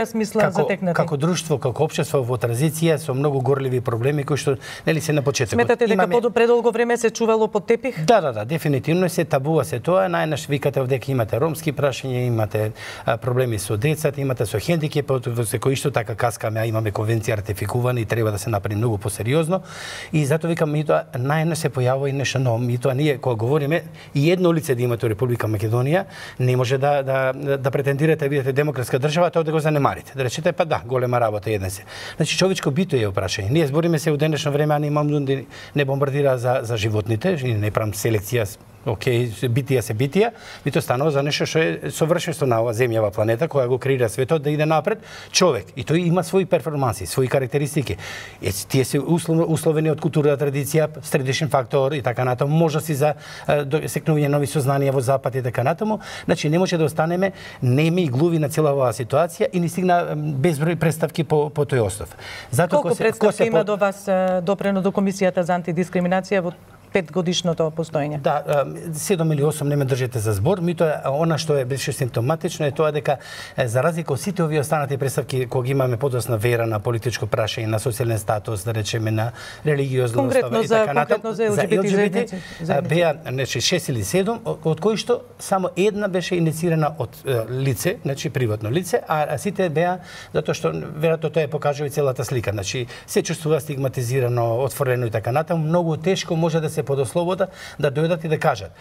[SPEAKER 11] како друштво, како општество во транзиција со многу горливи проблеми кои што нели се на почетокот.
[SPEAKER 3] Сметате дека предолго време се чувало под тепих?
[SPEAKER 11] Да, дефинитивно се табува се тоа. Најнаш викате овдека имате ромски прашања, имате проблеми со децата, имате со хендикеп, со кои што така каскаме, а имаме конвенција ратификувана и треба да се направи многу посериозно. И затоа викам, митоа најнаш се појавува и нешто ново. Митоа ние кога говориме и едно лице да имате во Република Македонија, не може да претендирате да бидете демократска држава, тоа да го занемарите. Да речете па да, голема работа еден се. Значи човечко бито е прашање. Ние збориме се во денешно време, а не имам не бомбардира за животните, не правам селекција. Океј, битија се битија, бито станува за нешто што е совршенство на оваа земјава планета која го креира светот да иде напред човек и тој има своји перформанси, своји карактеристики. Тие се условени од култура, традиција, средишен фактор и така натаму, можности за секнување нови сознанија во запад и така натаму. Значи не може да останеме неми и глуви на цела оваа ситуација и ни стигна безброј представки по тој основ.
[SPEAKER 3] Колку представки има до вас допрено до Комисијата за антидискриминација во
[SPEAKER 5] 5-годишното постоење.
[SPEAKER 11] Да, 7 или 8 не ме држите за збор, митоа она што беше симптоматично е тоа дека за разлика од сите овие останати представки кога имаме подосна вера на политичко прашање, на социјален статус, да речеме на религиозно
[SPEAKER 5] конкретно за ЛГБТ
[SPEAKER 11] беа 6 или 7, од кои што само една беше инициирана од лице, значи приватно лице, а сите беа затоа што веројатно тоа покажува и целата слика. Значи се чувствува стигматизирано, отворено и така натаму, многу тешко може да се подослобода да дојдат и да кажат.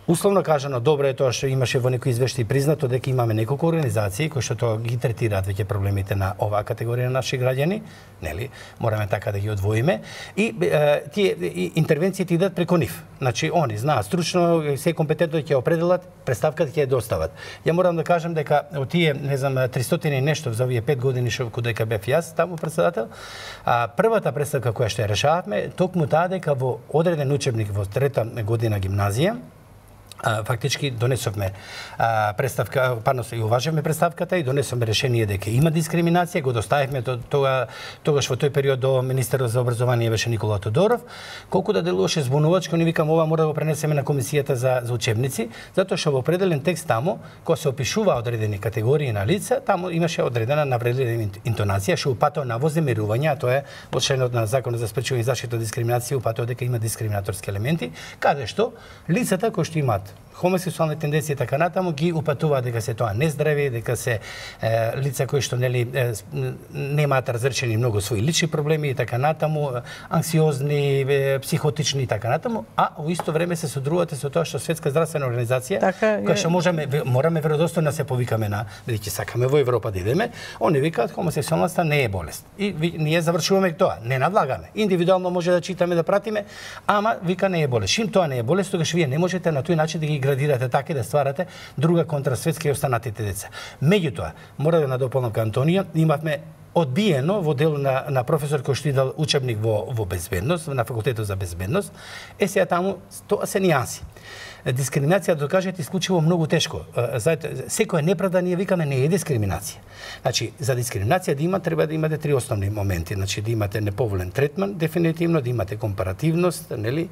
[SPEAKER 11] Условно кажано, добро е тоа што имаше во некои извештаи признато дека имаме неколку организации кои што тоа ги третираат веќе проблемите на оваа категорија на наши граѓани, нели? Мораме така да ги одвоиме и тие интервенциите идат преку нив. Значи они знаат стручно, се компетентно ќе определат, представката ќе ја достават. Ја морам да кажам дека од тие, не знам, 300 и нешто за овие 5 години што дека бев јас таму председател, првата представка која што ја решававме, токму таа дека во одреден учебник во 3-та година гимназија фактички донесовме представка, парносно и уважавме представката и донесовме решение дека има дискриминација, го доставивме тогаш во тој период до министерот за образование беше Никола Тодоров, колку да делуваше збунувачко, ни викам ова мора да го пренесеме на комисијата за учебници, затоа што во определен текст таму, кога се опишува одредени категории на лица, таму имаше одредена навредлива интонација, што упатува на вознемирување, а тоа е во членот на Законот за спречување и заштита од дискриминација, упатува дека има дискриминаторски елементи, каде што лицата кои што имаат хомосексуални тенденции и така натаму ги упатуваат дека се тоа нездрави, дека се лица кои што нели немаат разрешени многу своји лични проблеми и така натаму, анксиозни, психотични и така натаму, а во исто време се содружувате со тоа што Светска здравствена организација, која што мораме веродостојно се повикаме на, бидејќи сакаме во Европа да идеме, они викаат хомосексуалноста не е болест. И ние завршуваме тоа, не надлагаме. Индивидуално може да читаме, да пратиме, ама вика не е болест. Шим тоа не е болест, тогаш вие не можете на тој начин да ги градирате така и да стварате друга контра Светска и останатите деца. Меѓутоа, мора да надополнам кај Антонија, имавме одбиено во дел на професор кој што идал учебник во безбедност, на факултетот за безбедност, сега таму тоа се нијанси. Дискриминација, да кажете, исклучиво многу тешко. Секоја неправда ние викаме не е дискриминација. Значи, за дискриминација да има, треба да имате три основни моменти. Значи, да имате неповолен третман, дефинитивно, да имате компаративност, нели,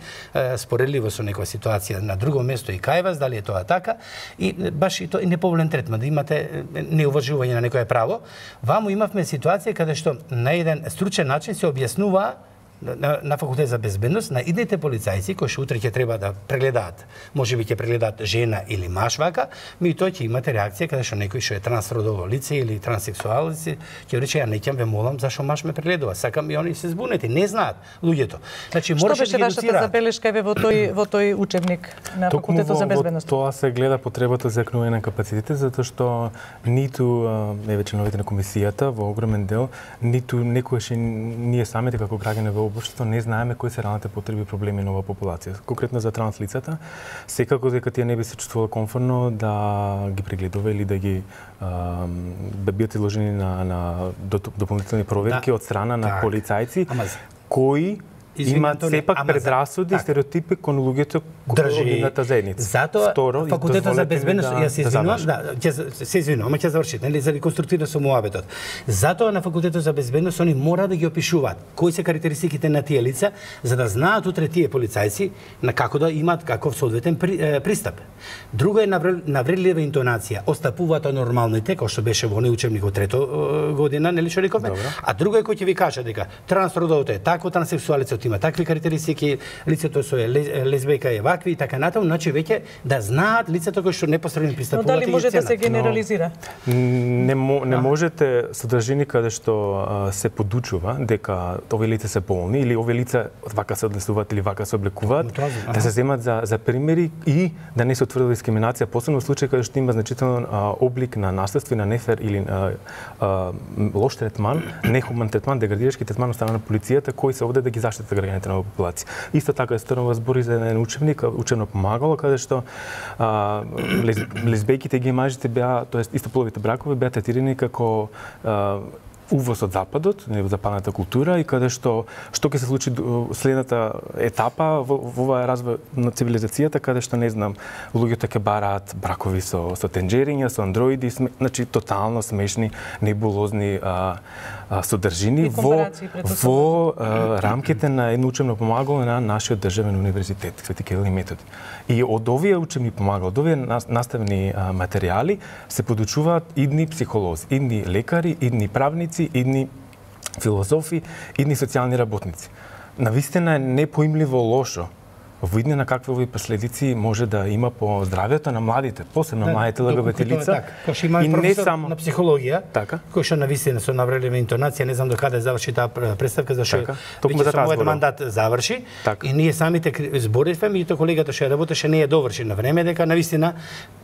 [SPEAKER 11] споредливо со некоја ситуација на друго место и кај вас, дали е тоа така, и баш и тоа и неповолен третман, да имате неуважување на некое право. Ваму имавме ситуација каде што на еден стручен начин се објаснува на факултет за безбедност на идните полицајци кои што утре ќе треба да прегледаат, можеби ќе прегледаат жена или маж вака, тој ќе имате реакција каде што некој што е трансродово лице или транссексуал лице ќе рече ја неќам ве молам зашо маж ме прегледува, сакам и они се збунети, не знаат луѓето. Значи
[SPEAKER 5] мораше да ги едуцира. Што беше вашата забелешка во тој учебник на факултетот за безбедност?
[SPEAKER 8] Тоа се гледа потребата за екнување на капацитет, затоа што ниту членовите на комисијата во огромен дел, ниту некојаш ние самите како граѓани во општеството не знаеме кои се реалните потреби и проблеми на оваа популација. Конкретно за транс лицата, секако дека тие не би се чувствувале комфортно да ги прегледува или да ги да бидат изложени на дополнителни проверки од страна на полицајци кои имаат сепак предрасуди и стереотипи кон луѓето од нивната заедница.
[SPEAKER 11] Затоа факултетот за безбедност, ја се извинувам, се извинувам, ќе завршите, нели, за реконструктивно со муабетот. Затоа на факултетот за безбедност они мора да ги опишуваат кои се карактеристиките на тие лица, за да знаат утре тие полицајци на како да имаат каков соодветен пристап. Друго е навредлива интонација, остапуваат нормалните, кој што беше во учебник од 3-та година, нели што рековме, а друго е кој ќе ви каже дека трансродовото е тако, транссексуалецот има такви карактеристики, лицето со лесбејка е вакви и така натаму, значи веќе да знаат лицето кои што непосредно пристапуваат.
[SPEAKER 5] Но дали може да се генерализира?
[SPEAKER 8] Не можете содржини каде што се подучува дека овие лица се болни или овие лица вака се однесуваат или вака се облекуваат, да се земат за примери и да не се утврди дискриминација, посебно во случај каде што има значителен облик на наследство и на нефер или лош третман, нехуман третман, деградирачки третман од страна на полицијата кои се овде да ги заштитат граѓаните на популација. Исто така станува збори за еден учебник, учебно помагало, каде што лесбејките и мажите беа, тоест истополовите бракови беа третирани како увоз од западот, западната култура и каде што ќе се случи следната етапа во оваа развој на цивилизацијата, каде што не знам, луѓето ќе бараат бракови со тенџериња, со андроиди, значи тотално смешни, небулозни содржини во рамките на едно учебно помагало на нашиот државен универзитет, Свети Кирил и Методи. И од овие учебни помагала, од овие наставни материјали се подучуваат идни психолози, идни лекари, идни правници, идни филозофи, идни социјални работници. Навистина е непоимливо лошо во иднина какви овои последици може да има по здравјето на младите, посебно младите ЛГБТ лица.
[SPEAKER 11] Кој што има професор на психологија, кој што навистина со наврелива интонација, не знам до каде заврши таа представка, зашто веќе со мојот мандат заврши и ние самите зборивме, меѓутоа колегата што ја работеше не ја доврши на време, дека навистина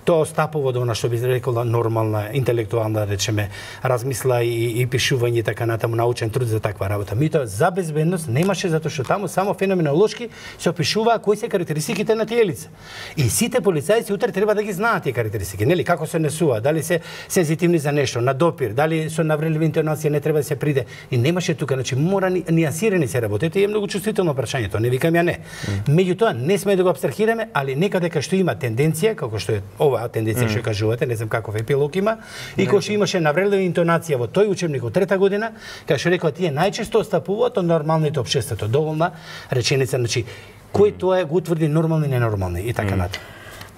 [SPEAKER 11] тоа стапува до она што би рекола нормална, интелектуална, речеме, размисла и пишување и така натаму, научен труд за таква работа. Меѓутоа за безбедност немаше, затоа што таму само феноменолошки се опишува кои се карактеристиките на тие лица. И сите полицајци утре треба да ги знаат тие карактеристики, нели, како се однесуваат, дали се сензитивни за нешто, на допир, дали со наврелива интонација не треба да се приде. И немаше тука, значи мора нијансирани се работи, е многу чувствително прашањето, не викам ја не. Меѓутоа не сме да го апстрахираме, али некаде кај што има тенденција, како што е оваа тенденција што кажувате, не знам каков епилог има, и кој што имаше наврелива интонација во тој учебник од трета година, кај што рекоа тие најчесто стапуваат од нормалните општеството. Доволна реченица, значи кој тоа го утврди нормални и ненормални и така натаму.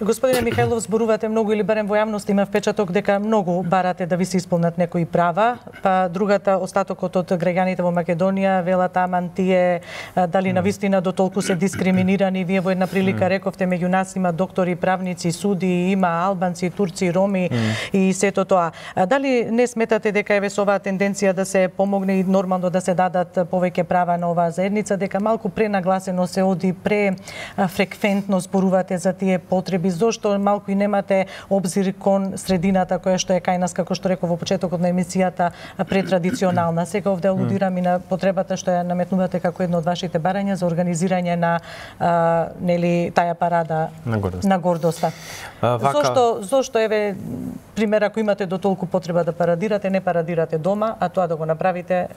[SPEAKER 5] Господине Михајлов, зборувате многу или барем во јавност има впечаток дека многу барате да ви се исполнат некои права, па другата остатокот од граѓаните во Македонија велат аман тие дали навистина до толку се дискриминирани. Вие во една прилика рековте меѓу нас има доктори, правници, суди, има албанци, турци, роми и сето тоа. Дали не сметате дека еве со оваа тенденција да се помогне и нормално да се дадат повеќе права на оваа заедница, дека малку пренагласено се оди, префреквентно зборувате за тие потреби? Зошто малку и немате обзир кон средината која што е кај нас, како што реков во почетокот на емисијата, претрадиционална. Сега овде алудирам и на потребата што ја наметнувате како едно од вашите барања за организирање на нели таа парада на гордоста. Зошто еве пример, ако имате до толку потреба да парадирате, не парадирате дома, а тоа да го направите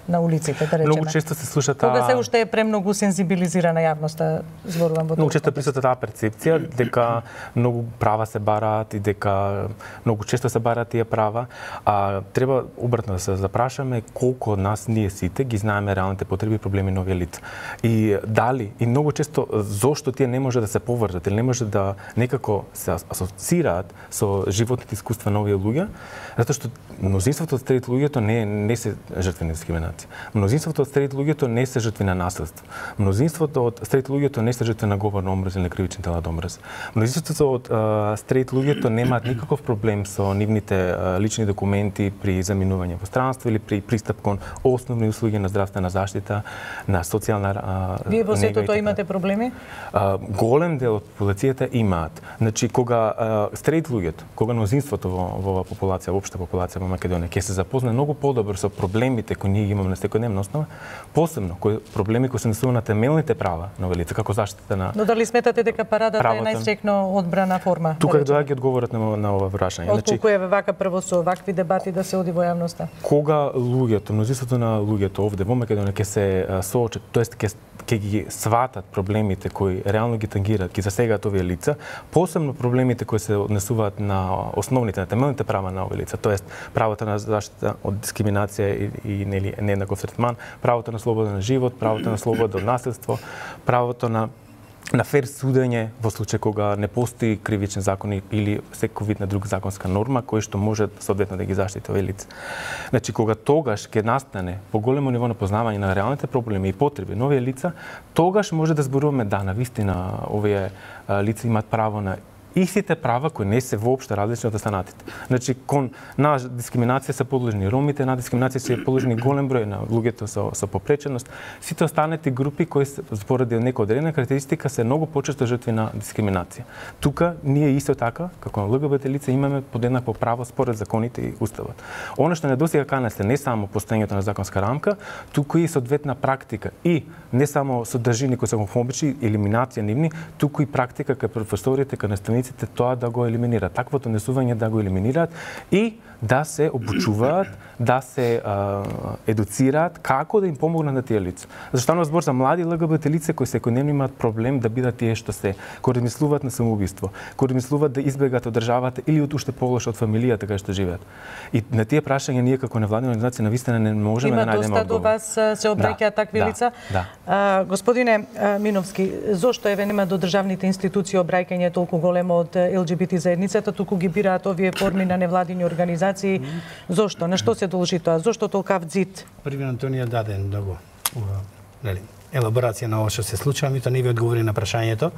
[SPEAKER 5] на улиците, да речеме.
[SPEAKER 8] Многу често се слуша таа...
[SPEAKER 5] Кога се уште е премногу сензибилизирана јавноста, зборувам во тоа.
[SPEAKER 8] Многу често присуства таа перцепција дека многу права се бараат и дека многу често се бараат тие права, а треба обратно да се запрашаме колку од нас ние сите ги знаеме реалните потреби и проблеми на овие лица. И дали, и многу често зошто тие не може да се поврзат или не може да некако се асоцираат со животните искуства на овие луѓе, затоа што мнозинството од старите луѓето не се жртви на дискриминација. Мнозинството од старите луѓето не се жртви на насилство. Мнозинството од старите луѓето не се жртви на говор на омраз или на кривични дела од омраз. Мнозинството од старите луѓето немаат никаков проблем со нивните лични документи при заминување во странство или при пристап кон основни услуги на здравствена заштита, на социјална
[SPEAKER 5] Вие во сето тоа имате проблеми?
[SPEAKER 8] Голем дел од популацијата имаат. Значи кога старите луѓето, кога мнозинството во оваа популација, општа популација во Македонија ќе се запозна многу подобро со проблемите кои ние имаме на секојдневна основа, посебно проблеми кои се однесуваат на темелните права на овие лица, како заштита на...
[SPEAKER 5] Но дали сметате дека парадата е најстрикно одбрана форма?
[SPEAKER 8] Тука доаѓа одговорот на ова прашање.
[SPEAKER 5] Отколку е вака прво со вакви дебати да се оди во јавноста?
[SPEAKER 8] Кога луѓето, мнозинството на луѓето овде во Македонија ќе се соочат, тоест ќе ги сватат проблемите кои реално ги тангираат, ги засегаат овие лица, посебно проблемите кои се однесуваат на основните, на темелните права на овие лица, тоест правото на заштита од дискриминација и нели нееднаков третман, правото на слободен живот, правото на слобода од насилство, правото на фер судење во случај кога не постои кривичен закон или секој вид на друга законска норма кој што може соодветно да ги заштити овие лица. Значи кога тогаш ќе настане поголемо ниво на познавање на реалните проблеми и потреби на овие лица, тогаш може да зборуваме да навистина овие лица имаат право на истите права кои не се воопшто различни од останатите. Значи, на дискриминација се подложени ромите, на дискриминација се подложени голем број на луѓето со попреченост. Сите останати групи кои споради некоја одредена карактеристика се многу почесто жртви на дискриминација. Тука ние исто така, како ЛГБТ лица, имаме подеднакво право според законите и уставот. Она што недостига кај нас е не само постоењето на законска рамка, туку и соодветна практика и не само содржини кои се хомофобични, елиминација нивни, туку и практика кај професорите, кај наставниците тоа да го елиминираат, таквото однесување да го елиминираат и да се обучуваат, да се едуцираат како да им помогнат на тие лица. Зашто станува збор за млади ЛГБТ лица кои секојдневно имаат проблем да бидат тие што се, кои размислуваат на самоубиство, кои размислуваат да избегат од државата или од уште полош од фамилијата кај што живеат. И на тие прашања ние како невладина организација навистина не можеме да најдеме одговор.
[SPEAKER 5] Има доста до вас се обраќаат такви лица. Господине Миновски, зошто еве нема до државните институции обраќање толку големо од ЛГБТ заедницата, туку ги бираат овие форми на невладини организации? Зошто? На што се должи тоа? Зошто толкав дзид?
[SPEAKER 11] Први Антонија даде многу елаборација на ова што се случува, меѓутоа не ви одговори на прашањето,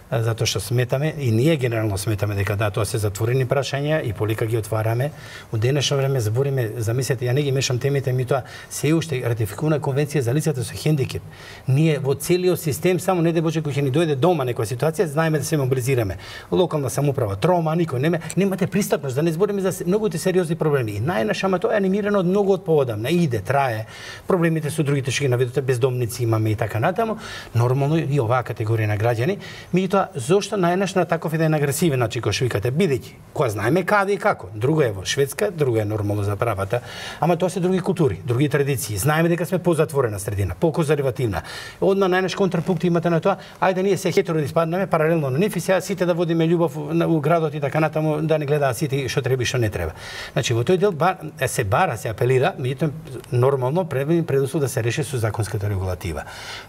[SPEAKER 11] затоа што сметаме и ние генерално сметаме дека да, тоа се затворени прашања и полека ги отвараме. Од денешно време збориме, замислете, ја не ги мешам темите, меѓутоа се уште ратификувана конвенција за лицата со хендикеп. Ние во целиот систем само не Боже кој ќе ни дојде дома некоја ситуација, знаеме да се мобилизираме. Локална самоуправа, трома, никој немате пристапност, да не збориме за многуте сериозни проблеми. И најнаш, ама тоа е анимирано од многу од поводамна. Иде, трае. Проблемите со другите што ги наведоте, бездомници имаме и така натаму. Нормално и оваа категорија на граѓани. Зошто најнаш на таков еден агресивен начин кој што викате, бидејќи која знаеме каде и како. Друго е во Шведска, друго е нормално за правата, ама тоа се други култури, други традиции. Знаеме дека сме позатворена средина, поконзервативна. Одма најнаш контрапункт имате на тоа, ајде ние се хетеро да испаднеме паралелно на нив и сега сите да водиме љубов у градот и така натаму, да не гледаат сите што треба и што не треба. Значи во тој дел се бара, се апелира, меѓутоа нормално предуслов да се реши со законската регулатива.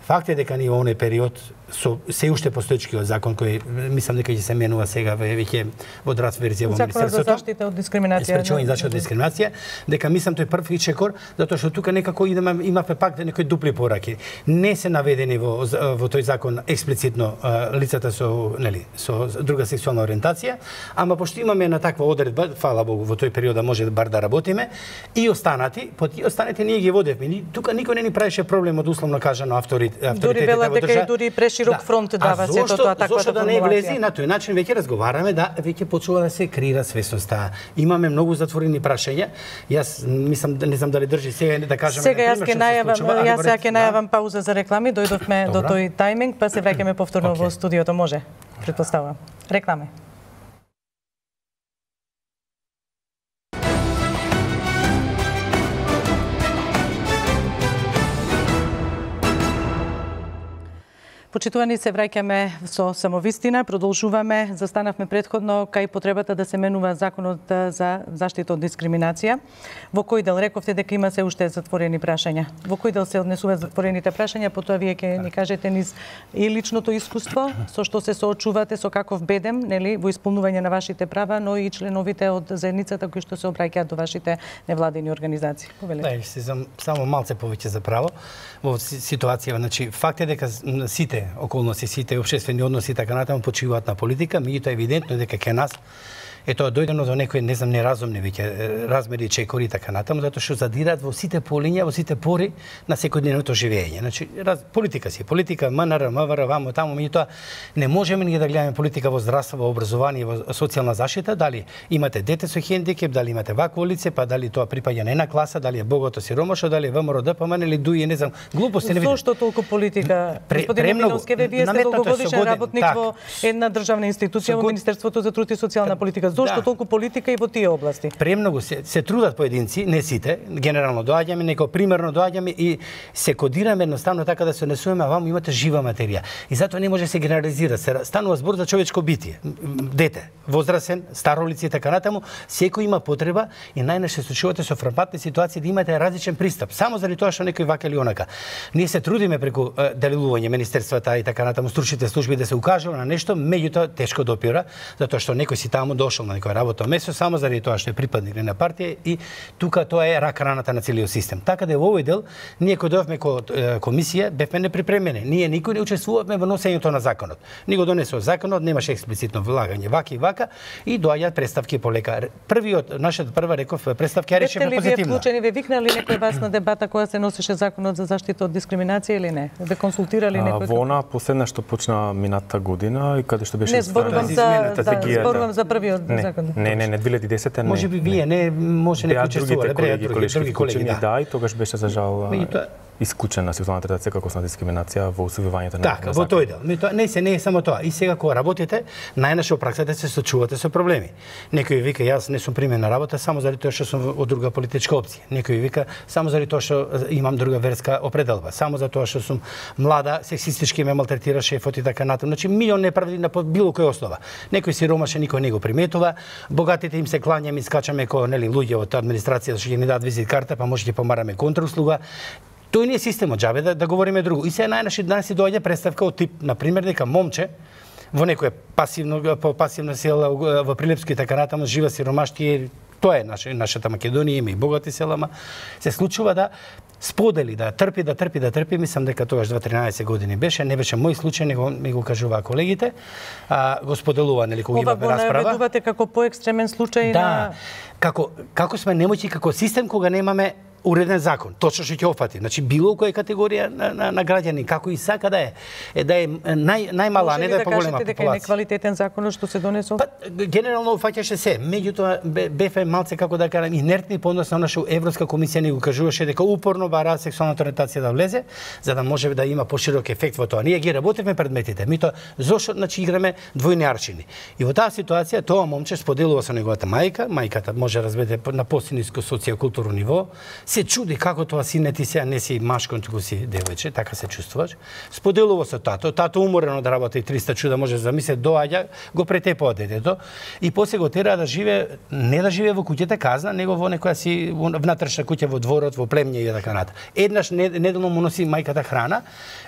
[SPEAKER 11] Факт е дека ние во оној период со се уште постоечкиот закон кој мислам дека ќе се менува сега веќе во драфт верзија во министерството.
[SPEAKER 5] Закон за заштита од дискриминација.
[SPEAKER 11] Спречување заштита од дискриминација, дека мислам тој први чекор, затоа што тука некако имавме пак некои дупли пораки. Не се наведени во тој закон експлицитно лицата со друга сексуална ориентација, ама пошто имаме на таква одредба, фала Богу, во тој период може бар да работиме, и останати ние ги водевме. Тука никој не ни правеше проблем од условно кажано авторитетите
[SPEAKER 5] во држава. Дури велат дека и дури преширок фронт дава сето тоа таквата
[SPEAKER 11] зошто да не влезе на тој начин веќе разговараме, да веќе почува да се креира свесноста. Имаме многу затворени прашања. Јас мислам, не знам дали држи сега да кажеме.
[SPEAKER 5] Сега јас ќе најавам пауза за реклами, дојдовме до тој тајминг, па се враќаме повторно во студиото, може? Претпоставувам. Реклами. Почитувани, се враќаме со самовистина, продолжуваме, застанавме претходно кај потребата да се менува законот за заштита од дискриминација. Во кој дел рековте дека има се уште затворени прашања? Во кој дел се однесуваат затворените прашања? Потоа вие ќе ни кажете низ и личното искуство, со што се соочувате, со каков бедем, нели, во исполнување на вашите права, но и членовите од заедницата кои што се обраќаат до вашите невладини организации.
[SPEAKER 11] Да, само малце повеќе за право во ситуација, значи факт е дека сите околности, сите општествени односи и така натаму почиваат на политика, меѓутоа евидентно дека кај нас е тоа дојдено до некои, не знам, неразумни веќе размери, чекори и така натаму, затоа што задираат во сите полиња, во сите пори на секојдневното живење. Значи, политика си, политика, МНР, МВР, вамо, таму, меѓутоа не можеме ние да гледаме политика во здравство, во образование, во социјална заштита, дали имате дете со хендикеп, дали имате вакво лице, па дали тоа припаѓа на една класа, дали е богато сиромашо, дали е ВМРО, ДПМН или ДУИ, не знам, глупости не видам.
[SPEAKER 5] Зошто толку политика? Господин Миновски, вие сте долгогодишен работник во една државна институција, во Министерството за труд и социјална политика. Зошто толку политика и во тие области?
[SPEAKER 11] Премногу се трудат поединци, не сите, генерално доаѓаме, неко примерно доаѓаме и се кодираме едноставно така да се однесуваме, а ваму имате жива материја. И затоа не може да се генерализира. Се станува збор за човечко битие. Дете, возрасен, старо лице и така натаму, секој има потреба и најнаш се случувате со фрапантни ситуации да имате различен пристап, само заради тоа што некој вака или онака. Ние се трудиме преку делилување министерствата и така натаму, стручните служби да се укажува на нешто, меѓутоа тешко допира, затоа што некој си таму дошол на некој работно место само заради тоа што е припадник на партија и тука тоа е рак раната на целиот систем. Така да во овој дел ние кога дојавме ко комисија бевме неприпремени. Ние никој не учествувавме во носењето на законот. Ни го донесува законот, немаше експлицитно влагање вака и вака и доаѓаат представки полека. Нашата прва реков представки ја решивме позитивно.
[SPEAKER 5] Вие вклучени, ве викнали некој вас на дебата која се носеше законот за заштита од дискриминација или не? Ве консултирали некој?
[SPEAKER 8] Во она последна што почна минатата година и каде што беше
[SPEAKER 5] зборувам за првиот закон.
[SPEAKER 8] Не, 2010
[SPEAKER 11] Може би вие не може не учествувале,
[SPEAKER 8] други колеги, да, и тогаш беше за жал исклучена сексуална третација како основна дискриминација во усвојувањето на
[SPEAKER 11] така, во тој дел. Не е само тоа. И сега кога работите, најнаше во праксата се сочувате со проблеми. Некој вика јас не сум примен на работа само заради тоа што сум од друга политичка опција. Некој вика само заради тоа што имам друга верска определба, само за тоа што сум млада, сексистички ме малтретира шефот и така натаму. Значи милион неправди на било која основа. Некој сиромашен никој не го приметува, богатите им се клањаме и скачаме ко луѓе од администрација што ќе ни дадат визит карта, па може ќе помараме контрауслуга. Тој не е системот, џабе да говориме друго. И сега најнаши данас доаѓа представка од тип, на пример, дека момче во некоја пасивна села во Прилепско и така натаму жива сиромаштија. Тоа е нашата Македонија, има и богати селама. Се случува да сподели, да трпи, мислам дека тогаш 13 години беше, не беше мој случај, него ми го кажуваа колегите. Го споделува, нели, кога имаме расправа.
[SPEAKER 5] Ова го наведувате како поекстремен случај на...
[SPEAKER 11] Како сме немојки како систем кога немаме уреден закон, точно што ќе опфати. Значи било која категорија на граѓани, како и сака да е најмала, а не да е поголема популација. Може ли да кажете дека е
[SPEAKER 5] неквалитетен законот што се донесол?
[SPEAKER 11] Генерално опфаќаше се. Меѓутоа бефе малце, како да кажам, инертни по однос на она што Европска комисија ни го кажуваше дека упорно бара сексуалната ориентација да влезе, за да може да има поширок ефект во тоа. Ние ги работевме предметите. Мито зошто играме двојни аршини. И во таа ситуација тоа момче споделува со неговата мајка, мајката може разбеде на посиниско социјакултурно ниво, се чуди како тоа сине ти сега не си машко, туку си девојче, така се чувствуваш. Споделува со тато уморено да работи 300 чуда, може да замисли, доаѓа, го претепува детето и после го тера да живее, не да живее во куќата казна, него во некоја си внатрешна куќа во дворот, во племње и така натаму. Еднаш неделно му носи мајката храна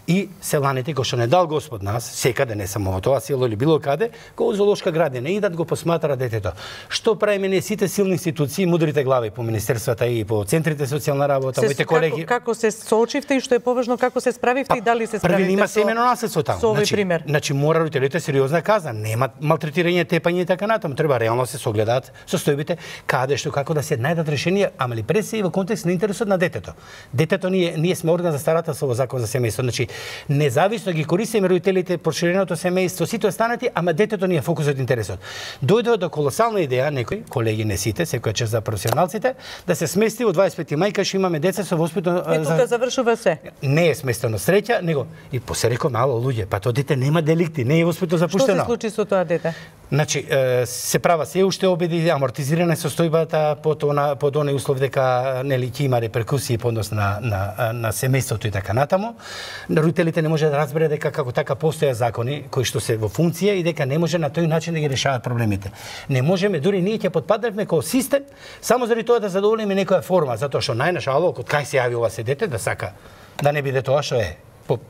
[SPEAKER 11] и селаните кои што не дал Господ нас, секаде не само во тоа село или било каде, кога зоолошка градина идат го посматра детето. Што правиме ние сите силни институции, мудрите глави по министерствата и по центрите социјална работа, моите колеги.
[SPEAKER 5] Како се соочивте и што е поважно како се справивте и дали се справивте?
[SPEAKER 11] Први има семено наследство таму.
[SPEAKER 5] Со овој пример.
[SPEAKER 11] Значи мора родителите сериозна казна, нема малтретирање, тепање и така натаму. Треба реално се согледаат состојбите каде што како да се најдат решенија, ама ли пред се и во контекст на интересот на детето. Детето ние сме орган за старателство во закон за семејство. Значи независно ги користиме родителите, проширеното семејство, сите останати, ама детето ни е фокусот интересот. Дојдоа до колосална идеја некои колеги, не сите, секоја чест за професионалците, да се смести во 25 мајка што имаме деца со воспитно.
[SPEAKER 5] И тука завршува се.
[SPEAKER 11] Не е сместено среќа, него и после реков мало луѓе, па тоа дете нема деликти, не е воспитно запуштено.
[SPEAKER 5] Што се случи со тоа дете?
[SPEAKER 11] Значи се права се уште обиди, амортизирана состојбата под оној услов дека нели ќе има реперкусии по однос на семејството и така натаму. Родителите не може да разбере дека како така постојат закони кои што се во функција и дека не може на тој начин да ги решаваат проблемите. Не можеме, дури ние ќе потпаднавме како систем само заради тоа да задоволиме некоја форма, затоа што најнаш алог од кај се јави ова се дете да сака да не биде тоа што е.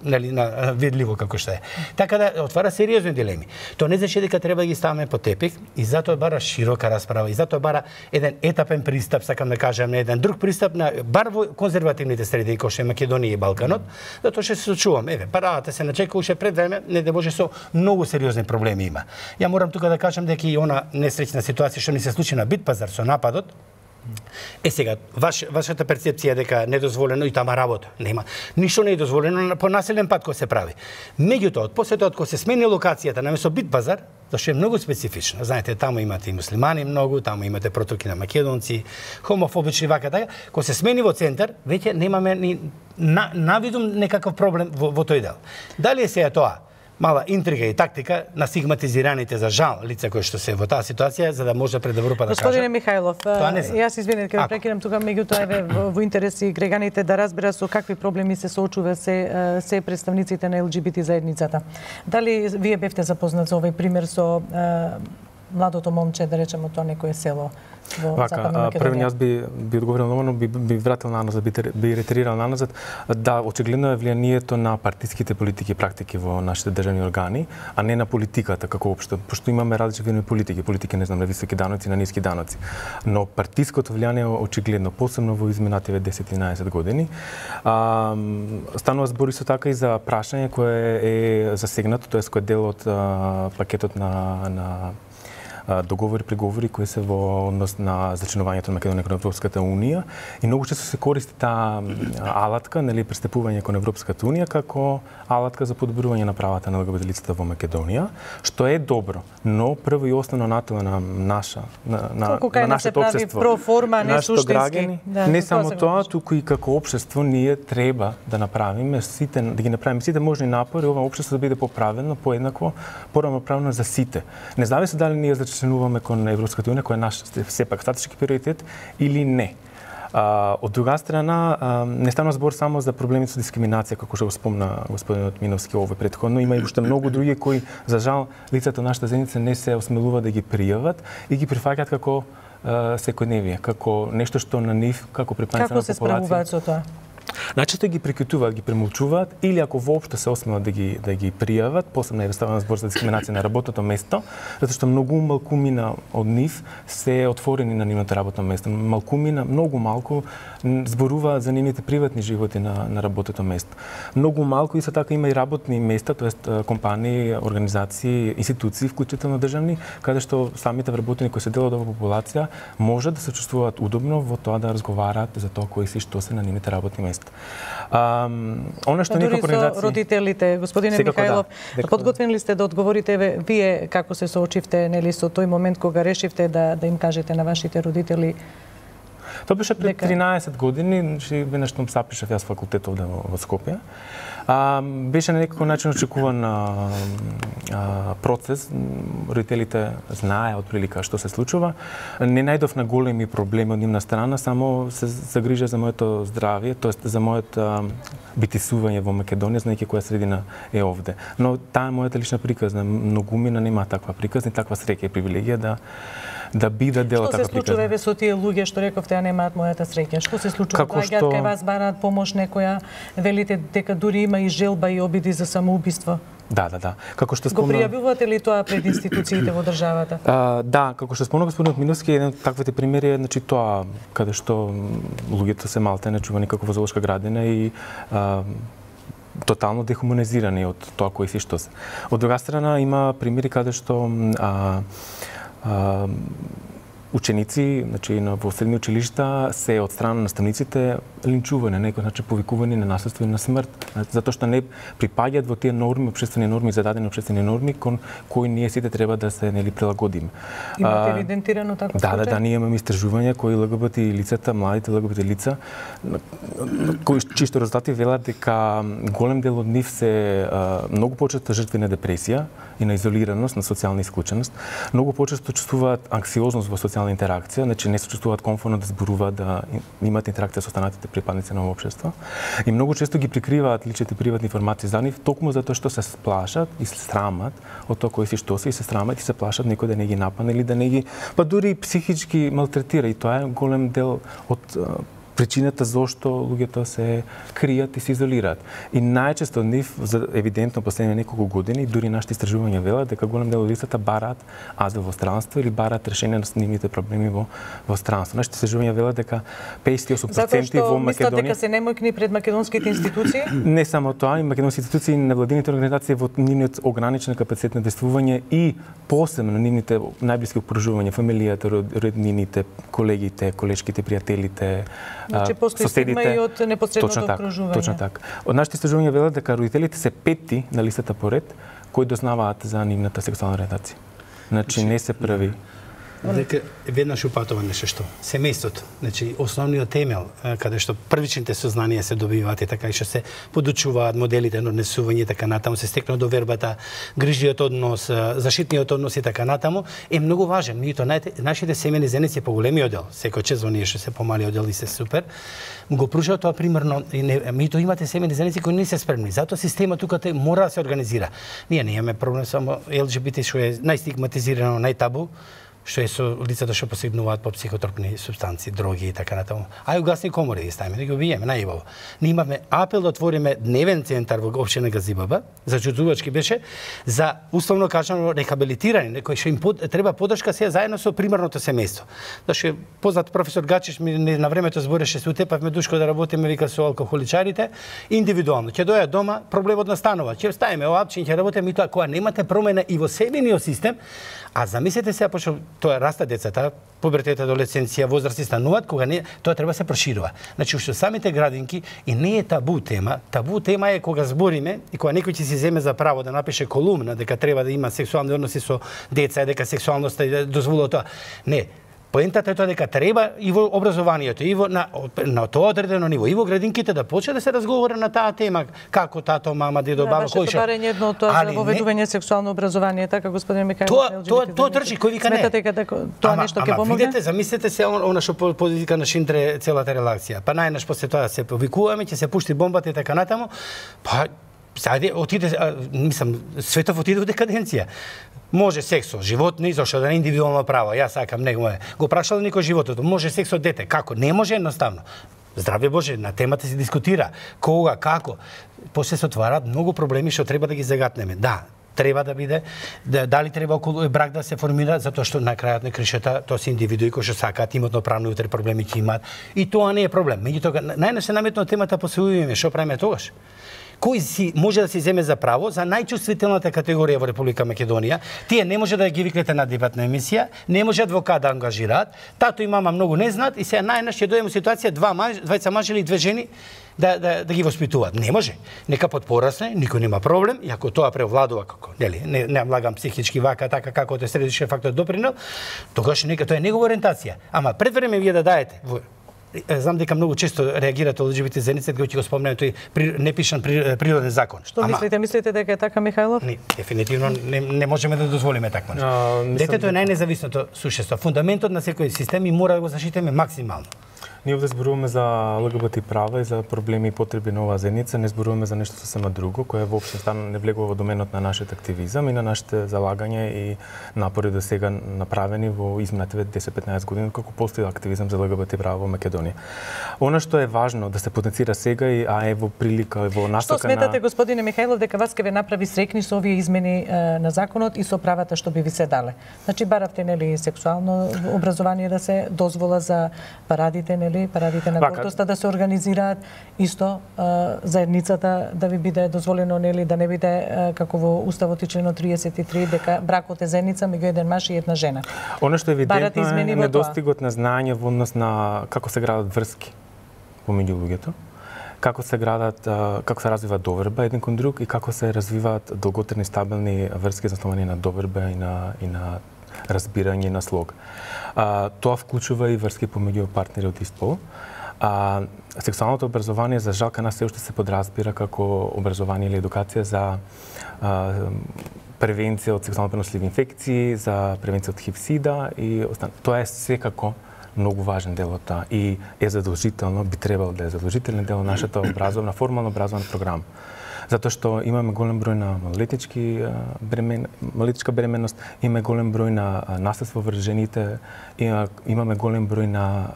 [SPEAKER 11] Нели видливо како што е. Така да отвара сериозни дилеми. Тоа не значи дека треба да ги ставаме под тепих и затоа бара широка расправа и затоа бара еден етапен пристап, сакам да кажам, еден друг пристап на бар во конзервативните среди кои што е Македонија и Балканот, затоа што се сочувам. Парата се начека уште пред време, не да може со многу сериозни проблеми има. Ја морам тука да кажам дека и она несреќна ситуација што ни се случи на Битпазар со нападот, сега, вашата перцепција дека недозволено и тама работа. Нема. Ништо не е дозволено по населен пат кој се прави. Меѓутоа, после тоа кога се смени локацијата наместо Битпазар, зашто е многу специфично. Знаете, таму имате и муслимани многу, таму имате протоки на македонци, хомофобични вака така. Кога се смени во центар, веќе немаме ни навидум некаков проблем во тој дел. Дали е сега тоа мала интрига и тактика на стигматизираните за жал лица кои што се во таа ситуација за да може пред Европа да кажа.
[SPEAKER 5] Господине Михајлов, јас извинете ќе ве прекинам тука, меѓутоа еве во интерес и граѓаните да разбера со какви проблеми се соочува се представниците на ЛГБТ заедницата. Дали вие бевте запознат со овој пример со младото момче, да речеме, тоа некое село во Западна Македонија?
[SPEAKER 8] Прво јас би одговорил на оно, би вратил наназад, би ретерирал наназад. Да, очигледно е влијанието на партиските политики и практики во нашите државни органи, а не на политиката како општо, пошто имаме различни видови политики, не знам, на високи даноци, на ниски даноци. Но партиското влијание е очигледно, посебно во изминативе 10-11 години. Станува збор исто така и за прашање кое е засегнато, тоа е кој е дел од пакетот на договори, преговори кои се во однос на зачленувањето на Македонија кон Европската унија и многу често се користи таа алатка, нели, пристапување кон Европската унија како алатка за подобрување на правата на ЛГБТ лицата во Македонија, што е добро, но прво и основно натела на нашето општество,
[SPEAKER 5] проформа, не суштински.
[SPEAKER 8] Не само тоа, туку и како општество ние треба да направиме сите, да ги направиме сите можни напори ова општество да биде поправено, поеднакво, поравноправно за сите. Независно дали ние зачленуваме кон Европската унија, кој е наш сепак стратешки приоритет или не. Од друга страна, не станува збор само за проблемите со дискриминација, како што го спомна господинот Миновски овој претходно, има и уште многу други кои, за жал, лицата на нашата заедница не се осмелуваат да ги пријават и ги прифаќаат како секојдневие, како нешто што на нив, како припајањето на популација.
[SPEAKER 5] Како се справуваат со тоа?
[SPEAKER 8] Најчесто ги прикритуваат, ги премолчуваат или ако воопшто се осмелат да ги пријават, посебно е ставен збор за дискриминација на работното место, затоа што многу малкумина од нив се отворени на нивното работно место. Малкумина, многу малку зборуваат за нивните приватни животи на работното место. Многу малку исто така има и работни места, тоест компании, организации, институции, вклучително државни, каде што самите вработени кои се дел од оваа популација можат да се чувствуваат удобно во тоа да разговараат за тоа кои се што се на нивните работни места. Оно што некако организации...
[SPEAKER 5] родителите, господине Михајлов, подготвени ли сте да одговорите вие како се соочивте, нели, со тој момент кога решивте да им кажете на вашите родители?
[SPEAKER 8] Тоа беше пред 13 години, значи веднаш што запишав јас факултет овде во Скопје. Беше на некако начин очекуван процес. Родителите знае отприлика што се случува. Не најдов на големи проблеми од нивна страна, само се загрижа за моето здравје, тоест за моето битисување во Македонија, знаејќи која средина е овде. Но таа е мојата лична приказна. Многумина нема таква приказна и таква среќа и привилегија да биде дел од таква приказна.
[SPEAKER 5] Што се случува еве со тие луѓе што рековте, а немаат мојата среќа? Што се случува? Доаѓаат кај вас, бараат помош некоја, велите дека дури има и желба и обиди за самоубиство?
[SPEAKER 8] Да. Како што
[SPEAKER 5] спомна... Го пријавувате ли тоа пред институциите во државата?
[SPEAKER 8] Да, како што спомна господинот Миновски, еден од таквите примери е, значи, тоа каде што луѓето се малте не чува никако во зоолошка градина и тотално дехуманизирани од тоа кои се што се. Од друга страна има примери каде што ученици, значи во средни училишта се од страна на наставниците линчувани, на некој начин повикувани на насилство и на смрт, затоа што не припаѓаат во тие норми, општествени норми, зададени општествени норми кон кои ние сите треба да се прилагодиме.
[SPEAKER 5] Имате евидентирано таков случај?
[SPEAKER 8] Да, ние имаме истражувања кои ЛГБТ лицата, младите ЛГБТ лица, кои чисто резултати велат дека голем дел од нив се многу почесто жртви на депресија и на изолираност, на социјална исклученост. Многу почесто чувствуваат анксиозност во социјална интеракција, значи не се чувствуваат комфортно да зборуваат, да имаат интеракција со останатите припадници на општество. И многу често ги прикриваат личните приватни информации за нив, токму затоа што се сплашат и се срамат од тоа кои се што се и се срамат и се плашат некој да не ги нападне или да не ги, па дури психички малтретира, и тоа е голем дел од причината зошто луѓето се кријат и се изолираат. И најчесто од нив, евидентно последните неколку години, дури нашите истражувања велат дека голем дел од лицата бараат азил во странство или бараат решение на нивните проблеми во странство. Нашите истражувања велат дека 58% во Македонија...
[SPEAKER 5] Затоа што мислат дека се немојкни пред македонските институции?
[SPEAKER 8] Не само тоа, и македонските институции и невладините организации во нивниот ограничен капацитет на действување и посебно нивните најблиски окружувања, фамилијата, роднините, колегите, колешките, пријателите,
[SPEAKER 5] значи постои стигма и од непосредното окружување.
[SPEAKER 8] Точно така. Од нашите истражувања велат дека родителите се петти на листата поред кои дознаваат за нивната сексуална ориентација. Значи не се први.
[SPEAKER 11] Дека веднаш упатува нешто што семејството, значи основниот темел каде што првичните сознанија се добиваат и така и што се подучуваат моделите на однесување и така натаму, се стекнува довербата, грижиот однос, заштитниот однос и така натаму е многу важен. Меѓутоа нашите семејни заедници по големи одел, секој чест во ние што се помали одел и се супер, го пружаат тоа примерно, меѓутоа имате семејни заедници кои не се спремни. Затоа системот тука мора да се организира. Ние не имаме проблем само ЛГБТ што е најстигматизирано, најтабу, што е со лицата што посегнуваат по психотропни супстанции, дроги и така натаму. Ај угасни комори да ставиме, да ги убиеме најубаво. Ние имавме апел да отвориме дневен центар во општина Газибаба, зачудувачки беше, за условно кажано рехабилитирање, кој што им треба поддршка сега заедно со примарното семејство. Зашто познат професор Гачиш ми на времето збореше се утепавме душко да работиме вика со алкохоличарите индивидуално. Ќе дојат дома, проблемот настанува. Ќе ставиме оапчин, ќе работиме и тоа кога немате промена и во себениот систем, а замислете сега пошто тоа раста децата, пубертет, адолесценција, возрасти стануваат, кога не, тоа треба да се проширува. Значи уште самите градинки и не е табу тема. Табу тема е кога збориме и кога некој ќе си земе за право да напише колумна дека треба да има сексуални односи со деца, дека сексуалноста да дозволува тоа. Не. Поентата е тоа дека треба и во образованието, и во на тоа одредено ниво, и во градинките да почне да се разговара на таа тема, како тато, мама, дедо, баба, кој што.
[SPEAKER 5] Барање едно од тоа за воведување сексуално образование, така господин Михајлов.
[SPEAKER 11] Тоа трчи, кој вика не.
[SPEAKER 5] Сметате дека тоа нешто ќе помогне?
[SPEAKER 11] Видете, замислете се она што подвика на Шиндре целата релакција. Па најнаш после тоа се повикуваме, ќе се пушти бомбата и така натаму. Па сајде отиде, мислам, светов отиде во декаденција. Може секс со животни, зашто да не индивидуално право. Јас сакам него е. Го прашал некој животот, може секс со дете, како? Не може едноставно. Здраве Боже, на темата се дискутира. Кога, како? После се отвараат многу проблеми што треба да ги загатнеме. Да, треба да биде, дали треба околу брак да се формира, затоа што на крајот на кришата тоа се индивидуи кои што сакаат, имотно правно и утре проблеми ќе имаат. И тоа не е проблем. Меѓутоа, најнаш се наметно темата после уиме, што правиме тогаш? Кој си може да се земе за право за најчувствителната категорија во Република Македонија, тие не може да ги викнете на дебатна емисија, не може адвокат да ангажираат, тато и мама многу не знаат и сега најнаш ќе дојдеме ситуација двајца мажи или две жени да ги воспитуваат. Не може. Нека подпорасне, никој нема проблем, и ако тоа превладува како, нели, не влагам психички вака така како тоа средишен фактор допринел, тогаш нека тоа е негова ориентација. Ама пред време вие да даете знам дека многу често реагираат ЛГБТ заедницата кога ќе го спомнеме тој непишан природен закон.
[SPEAKER 5] Што мислите? Мислите дека е така, Михајлов?
[SPEAKER 11] Не, дефинитивно не можеме да дозволиме такво нешто. Детето е најнезависното сушество. Фундаментот на секој систем и мора да го заштитиме максимално.
[SPEAKER 8] Ние овде зборуваме за ЛГБТ права и за проблеми и потреби на оваа заедница, не зборуваме за нешто сосема друго, кое воопшто не влегува во доменот на нашиот активизам и на нашите залагања и напори до сега направени во изминатите 10-15 години како постои активизам за ЛГБТ права во Македонија. Она што е важно да се потенцира сега и во прилика во насока на...
[SPEAKER 5] Што сметате, господине Михајлов, дека вас ке ве направи срекни со овие измени на законот и со правата што би ви се дале? Значи баравте нели сексуално образование да се дозвола за парадите, парадите на гордоста да се организираат, исто заедницата да ви биде дозволено нели да не биде како во уставот и членот 33 дека бракот е заедница меѓу еден маж и една жена.
[SPEAKER 8] Она што е евидентно е недостигот на знаење во однос на како се градат врски помеѓу луѓето, како се градат, како се развива доверба еден кон друг и како се развиваат долготрajни стабилни врски засновани на доверба и на разбирање на слог. Тоа вклучува и врски помеѓу партнери од ист пол. Сексуалното образование за жал кај нас се уште се подразбира како образование или едукација за превенција од сексуално преносливи инфекции, за превенција од ХИВ-СИДА и тоа е секако многу важен дел од таа и е задолжително, би требало да е задолжителен дел од нашата образовна, формална образовна програма. Затоа што имаме голем број на малолетничка бременност, имаме голем број на наследство врз жените, имаме голем број на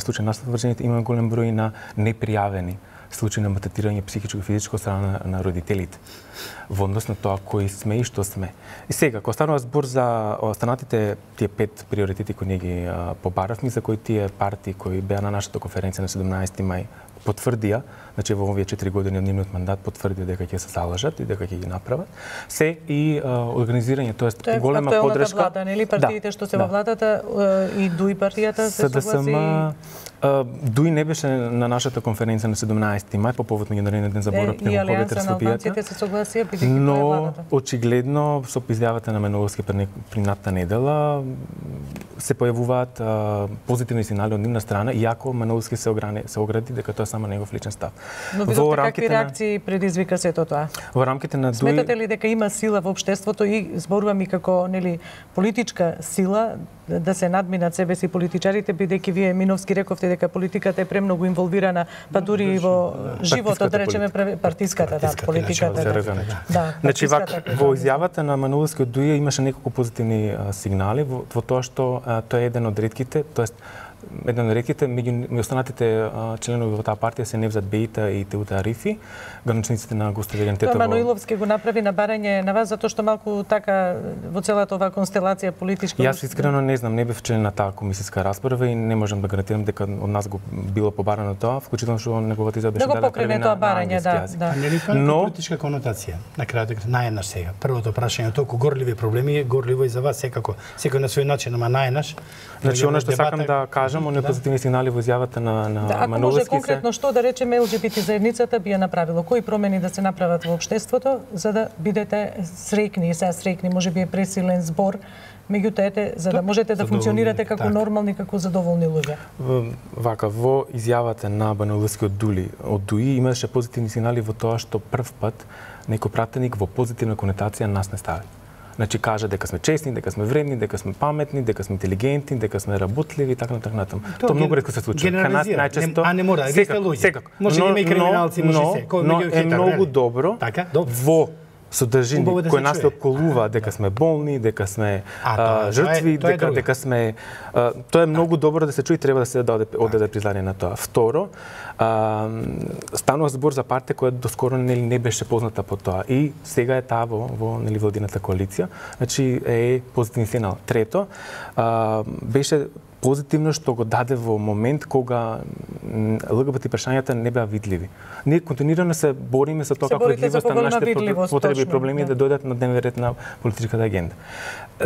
[SPEAKER 8] случаи наследство врз жените, имаме голем број на непријавени случаи на малтретирање психичко и физичко од страна на родителите во однос на тоа кои сме и што сме. И сега, кога станува збор за останатите тие 5 приоритети кои ние ги побаравме, за кои тие партии кои беа на нашата конференција на 17 мај потврдија, значи во овие 4 години од нивниот мандат потврдија дека ќе се залажат и дека ќе ги направат, се и организирање, тоест голема поддршка.
[SPEAKER 5] Тоа е влада, нели партиите што се во владата и ДУИ партијата се согласи.
[SPEAKER 8] ДУИ не беше на нашата конференција на 17 мај по повод меѓународниот ден за борба против хомофобијата. Но очигледно со изјавата на Меноловски принатата недела се појавуваат позитивни сигнали од нивна страна, иако Меноловски се огради дека тоа е само негов личен став.
[SPEAKER 5] Но видовте какви реакции предизвика сето тоа?
[SPEAKER 8] Во рамките на ДУИ...
[SPEAKER 5] Сметате ли дека има сила во општеството и зборувам и како нели политичка сила да се надминат себе си политичарите, бидејќи вие Миновски рековте дека политиката е премногу инволвирана, па дури и во животот, да речеме, партиската, политиката.
[SPEAKER 8] Значи, во изјавата на Мануловски од Дуја имаше неколку позитивни сигнали во тоа што тој е еден од ретките, тоест еден од ретките меѓу останатите членови во таа партија се Невзат Бејта и Теута Арифи, граничниците на Густав Еген Тетово.
[SPEAKER 5] Мануиловски го направи на барање на вас затоа што малку така во целата оваа констелација политичка.
[SPEAKER 8] Јас искрено не знам, не бев член на таа комисиска расправа и не можам да гарантирам дека од нас го било побарано тоа, вклучително што неговата изјава беше
[SPEAKER 5] дадена први на англиски.
[SPEAKER 11] Нели тоа е политичка конотација? На крајот најнаш сега. Првото прашање толку горливи проблеми, горливо и за вас секако, секој на свој начин, ама најнаш.
[SPEAKER 8] Значи она што сакам да кажам, оние позитивни сигнали во изјавата на
[SPEAKER 5] Мануловски. Ако може конкретно што да речеме ЛГБТ заедницата би ја направило, кои промени да се направат во општеството за да бидете среќни, сега среќни можеби е пресилен збор, меѓутоа за да можете да функционирате како нормални, како задоволни луѓе.
[SPEAKER 8] Вака, во изјавата на Мануловски од Дуи имаше позитивни сигнали во тоа што прв пат некој пратеник во позитивна конотација нас не стави. Значи кажа дека сме честни, дека сме вредни, дека сме паметни, дека сме интелигентни, дека сме работливи и така натаму. Тоа многу ретко се случува. Кај нас најчесто
[SPEAKER 11] не мора, вие сте луѓе. Може има и криминалци, може се.
[SPEAKER 8] Но е многу добро во содржини кој нас околува дека сме болни, дека сме жртви, дека сме тоа е многу добро да се чуи, треба да се одаде признание на тоа. Второ, станува збор за партија која доскоро не беше позната по тоа и сега е таа во владината коалиција, значи е позитивен сигнал. Трето, беше позитивно што го даде во момент кога ЛГБТ прашањата не беа видливи. Ние континуирано се бориме за тоа како видливоста на нашите потреби и проблеми да дојдат на дневен ред на политичката агенда.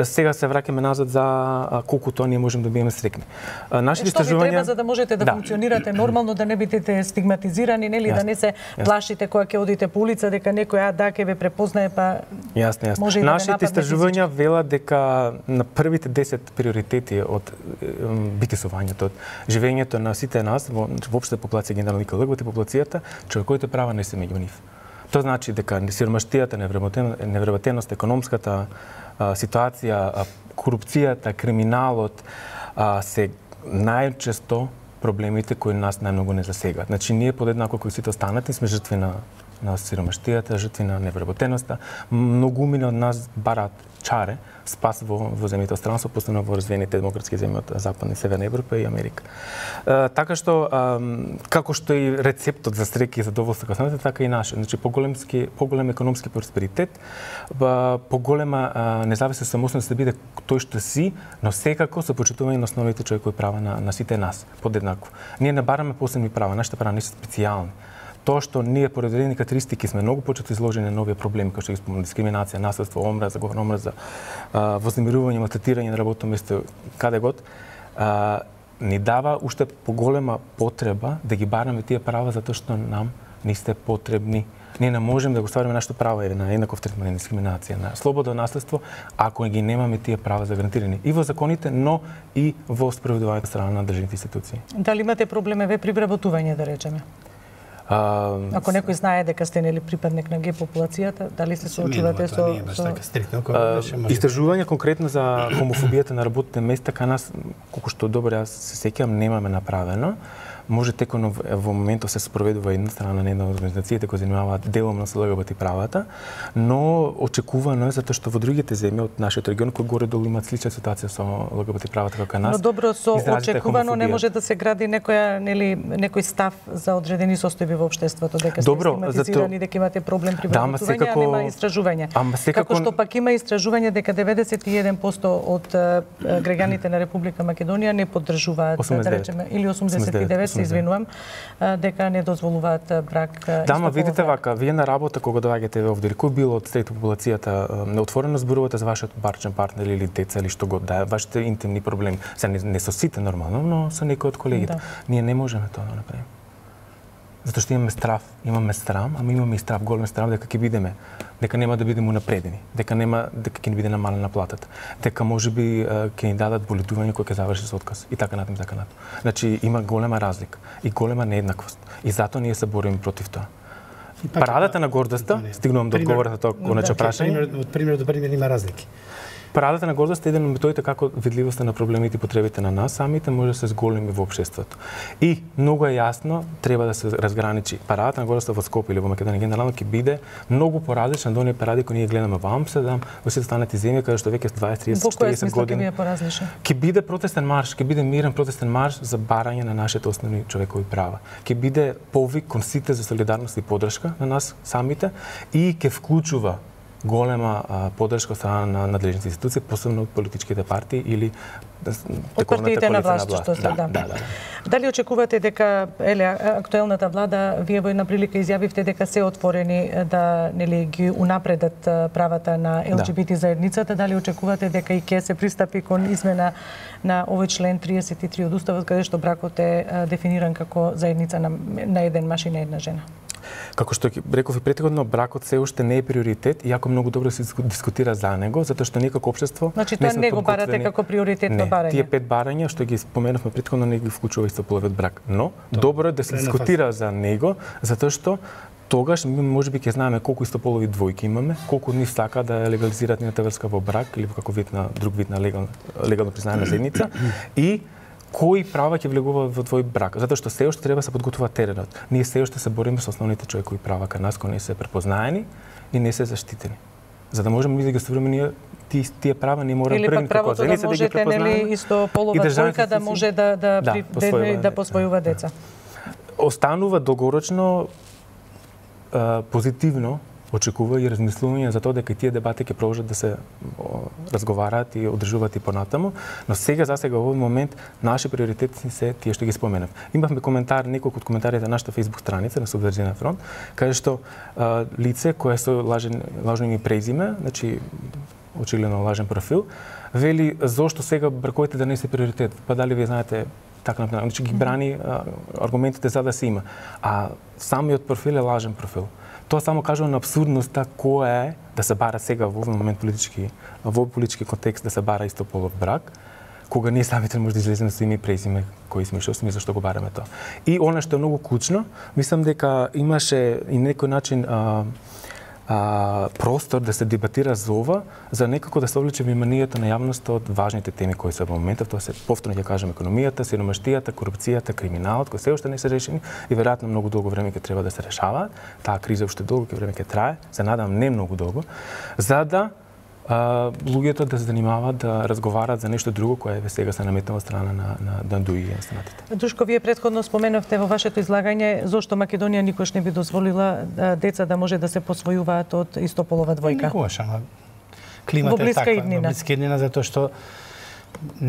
[SPEAKER 8] Сега се враќаме назад за колку тоа ние можеме да бидеме среќни. Нашите
[SPEAKER 5] истражувања што ви треба за да можете да функционирате нормално, да не бидете стигматизирани, нели, да не се плашите кога ќе одите по улица дека некој ќе ве препознае па
[SPEAKER 8] Јасно. Нашите истражувања велат дека на првите 10 приоритети од битисувањето, од живењето на сите нас, воопшто популација генерално и ЛГБТ популацијата, човековите права не се меѓу нив. Тоа значи дека сиромаштијата, невработеност, економската ситуација, корупцијата, криминалот се најчесто проблемите кои нас најмногу не засегаат. Значи ние подеднако кои сите останати сме жртви на сиромаштијата, жртви на невработеноста. Многумина од нас бараат чаре, спас во земјите од странство, посебно во развиените демократски земји од Западна и Северна Европа и Америка. Така што, како што и рецептот за среќа и задоволство како станете, така и наше. Значи, поголем економски просперитет, поголема независна самостојност да биде тој што си, но секако со почитување на основните човекови права на сите нас, подеднакво. Ние не бараме посебни права, нашите права не се специјални. Тоа што ние по одредени карактеристики сме многу почесто изложени на нови проблеми, како што ги спомнам, дискриминација, насилство, омраза, говор омраза, вознемирување, малтретирање на работно место, каде год, ни дава уште поголема потреба да ги бараме тие права затоа што нам не сте потребни. Ние не можеме да го ствариме нашето право на еднаков третман, на дискриминација, на слободно наследство, ако ги немаме тие права загарантирани и во законите, но и во справедувањето страна на државните институции.
[SPEAKER 5] Дали имате проблемеве при вработување, да речеме? Ако некој знае дека сте нели припадник на ге популацијата, дали се соочувате со
[SPEAKER 8] истражување конкретно за хомофобијата на работните места кај нас, колку што добро јас се сеќавам, немаме направено. Може текно во моментот се спроведува една страна на една од организациите кои занимаваат деломно со ЛГБТ правата, но очекувано е затоа што во другите земји од нашиот регион кои горе-долу имаат слична ситуација со ЛГБТ правата како нас.
[SPEAKER 5] Но добро, со очекувано не може да се гради некој став за одредени состојби во општеството, дека сте стигматизирани, дека имате проблем при вработување, а нема истражување. Како што пак има истражување дека 91% од граѓаните на Република Македонија не поддржуваат, да речеме, или 89 се извинувам, дека не дозволуваат брак.
[SPEAKER 8] Да, ма видите вака, вие на работа кога доаѓате овде, кој било од среќа популацијата, неотворено зборувате за вашиот барчен партнер или деца или што god, да, вашите интимни проблеми. Се не со сите нормално, но со некои од колегите. Ние не можеме тоа да направиме. Затоа што имаме срам, ама имаме и страв, голем страв дека ќе бидеме, дека нема да бидеме унапредени, дека ќе ни биде намалена платата, дека можеби ќе ни дадат боледување кој ќе заврши со отказ и така натаму, така натаму. Значи има голема разлика и голема нееднаквост и затоа ние се бориме против тоа. Парадата на гордоста, стигнувам до одговорот на тоа конече прашање.
[SPEAKER 11] Од пример до пример има разлики.
[SPEAKER 8] Парадата на гордост е еден од методите како видливоста на проблемите и потребите на нас самите може да се зголеми во општеството. И многу е јасно, треба да се разграничи парадата на гордост во Скопје или во Македонија генерално ќе биде многу поразлична од оние паради кои ние гледаме во Амстердам, во сите останати земји каде што веќе 20, 30, 40 години. Ќе биде протестен марш, ќе биде мирен протестен марш за барање на нашите основни човекови права. Ќе биде повик кон сите за солидарност и поддршка на нас самите и ќе вклучува голема поддршка од страна на надлежните институции, посебно од политичките партии или
[SPEAKER 5] од партиите на власт, што се да. Дали очекувате дека актуелната влада, вие во една прилика изјавивте дека се отворени да нели ги унапредат правата на ЛГБТ заедницата, дали очекувате дека и ќе се пристапи кон измена на овој член 33 од уставот каде што бракот е дефиниран како заедница на еден маж и на една жена?
[SPEAKER 8] Како што реков и претходно, бракот се уште не е приоритет, иако многу добро се дискутира за него, затоа што ние како општество
[SPEAKER 5] значи тоа не го барате како приоритетно барање.
[SPEAKER 8] Тие 5 барања што ги споменавме претходно не ги вклучува истополовиот брак, но добро е да се дискутира за него, затоа што тогаш можеби ќе знаеме колку истополови двојки имаме, колку од нив сака да легализираат нивната врска во брак или во каков вид на друг вид на легално признаена заедница и кои права ќе влегува во твој брак, затоа што се уште треба да се подготвува теренот. Ние се уште се бориме со основните човекови права кај нас кои не се препознаени и не се заштитени. За да можеме да ги остваруваме тие права не мора првни како заедница да ги препознаеме.
[SPEAKER 5] Или исто полова двојка да може да посвојува деца.
[SPEAKER 8] Останува долгорочно позитивно очекува и размислување за тоа дека тие дебати ќе продолжат да се разговараат и одржуваат и понатаму, но сега во овој момент наши приоритети се тие што ги споменав. Имавме коментар, неколку од коментарите на нашата Facebook страница на Содржина фронт, каде што лице кое со лажно име и презиме, значи очигледно лажен профил, вели зошто сега браковите да не се приоритет. Па дали вие знаете така например, значи ги брани аргументите за да се има. А самиот профил е лажен профил. Тоа само кажува на абсурдноста која е да се бара сега во овој момент во политички контекст да се бара истополов брак, кога ние самите може да излеземе со име и презиме кои сме, што сме, зашто го бараме тоа. И она што е многу клучно, мислам дека имаше и некој начин простор да се дебатира за ова, за некако да се облече вниманието на јавноста од важните теми кои се во моментот, тоа се повторно ќе кажем економијата, сиромаштијата, корупцијата, криминалот, кои се уште не се решени и веројатно многу долго време ќе треба да се решаваат. Таа криза уште долго време ќе трае, се надам не многу долго, за да луѓето да се занимаваат да разговараат за нешто друго кое сега се наметнува страна на ДУИ и останатите.
[SPEAKER 5] Душко, вие претходно споменавте во вашето излагање зошто Македонија никош не би дозволила деца да може да се посвојуваат од истополова двојка.
[SPEAKER 11] Никогаш, ама климата е таква, во блиска иднина, затоа што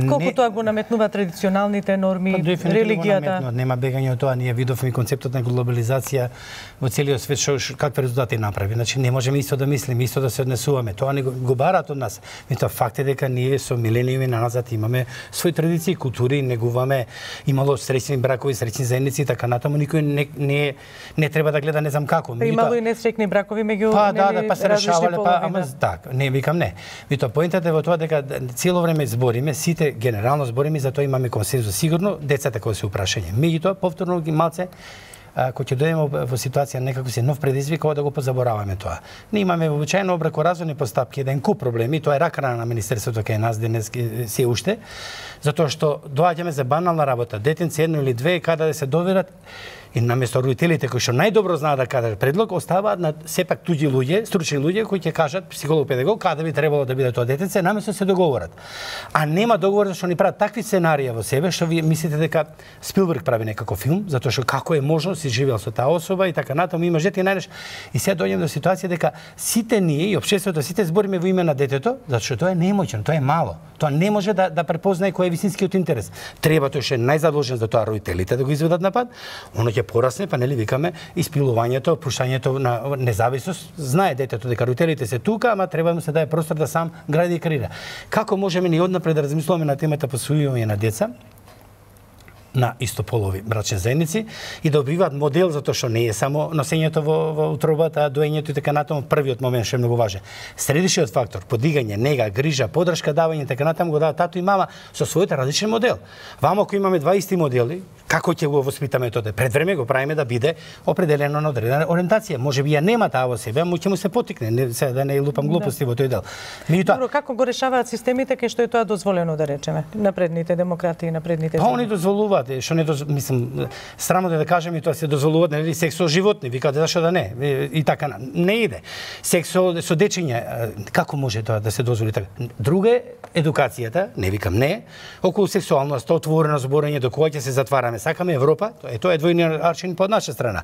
[SPEAKER 5] колку тоа го наметнува традиционалните норми, религијата.
[SPEAKER 11] Нема бегање од тоа, ние видовме концептот на глобализација во целиот свет какви резултати направи. Значи не можеме исто да мислиме, исто да се однесуваме. Тоа не го бараат од нас. Меѓутоа факт е дека ние со милениуми назад имаме свои традиции, култури, негуваме, имало среќни бракови, среќни заедници и така натаму, никој не треба да гледа не знам како.
[SPEAKER 5] Имало и несреќни бракови меѓу
[SPEAKER 11] па се решавале, ама така, не викам не. Меѓутоа поентата е во тоа дека цело време збориме, сите генерално збориме, затоа имаме консензус. Сигурно децата кои се упрашање. Меѓутоа повторно ги малце кога ќе дојдеме во ситуација некако се нов предизвик, да го позабораваме тоа. Ние имаме вообичаено бракоразводни постапки, еден куп проблеми, тоа е ракана на министерството кај нас денес се уште, затоа што доаѓаме за банална работа, детенце едно или две каде да се доверат и наместо родителите кои што најдобро знаат да кажат предлог, оставаат на сепак туѓи луѓе, стручни луѓе кои ќе кажат психолог, педагог каде би требало да биде тоа детенце, наместо се договорат. А нема договор зашто ни прават такви сценарија во себе што вие мислите дека Спилберг прави некако филм, затоа што како е можно си живеел со таа особа и така натаму има жете најдеш. И сега доаѓаме до ситуација дека сите ние и општеството сите збориме во име на детето, затоа што тоа е немоќно, тоа е мало. Тоа не може да препознае кој е вистинскиот интерес. Треба тој што е најзадолжен за тоа родителите да го изведат на пат, оно ќе порасне, па нели викаме испилувањето, пуштањето на независност. Знае детето дека родителите се тука, ама треба му се даде простор да сам гради и креира. Како можеме ни однапред да размислуваме на темата посвојување на деца? на истополови брачни заедници и да добиваат модел, затоа што не е само носењето во утробата, доењето и така натаму. Првиот момент што е многу важен. Средишниот фактор, подигање, нега, грижа, подршка, давање и така натаму го даваат тато и мама со својот различен модел. Вамо ако имаме 20 модели, како ќе го воспитаме тоа? Пред време го правиме да биде определено на одредена ориентација. Можеби ја нема таа во себе, му ќе му се потикне, да не лупам глупости во тој дел.
[SPEAKER 5] Добро, како го решаваат системите кај што е тоа дозволено, да речеме, напредните демократии, напредните
[SPEAKER 11] земји? Па они дозволуваат, што не мислам, срамно да кажем и тоа се дозволуваат, нели, секс со животни, викаат зашто да не, и така не иде. Секс со дечиња, како може тоа да се дозволи така? Друга е едукацијата, не викам не, околу сексуалноста, отворено зборење, до кога ќе се затвараме. Сакаме Европа, тоа е двојниот аршин по наша страна.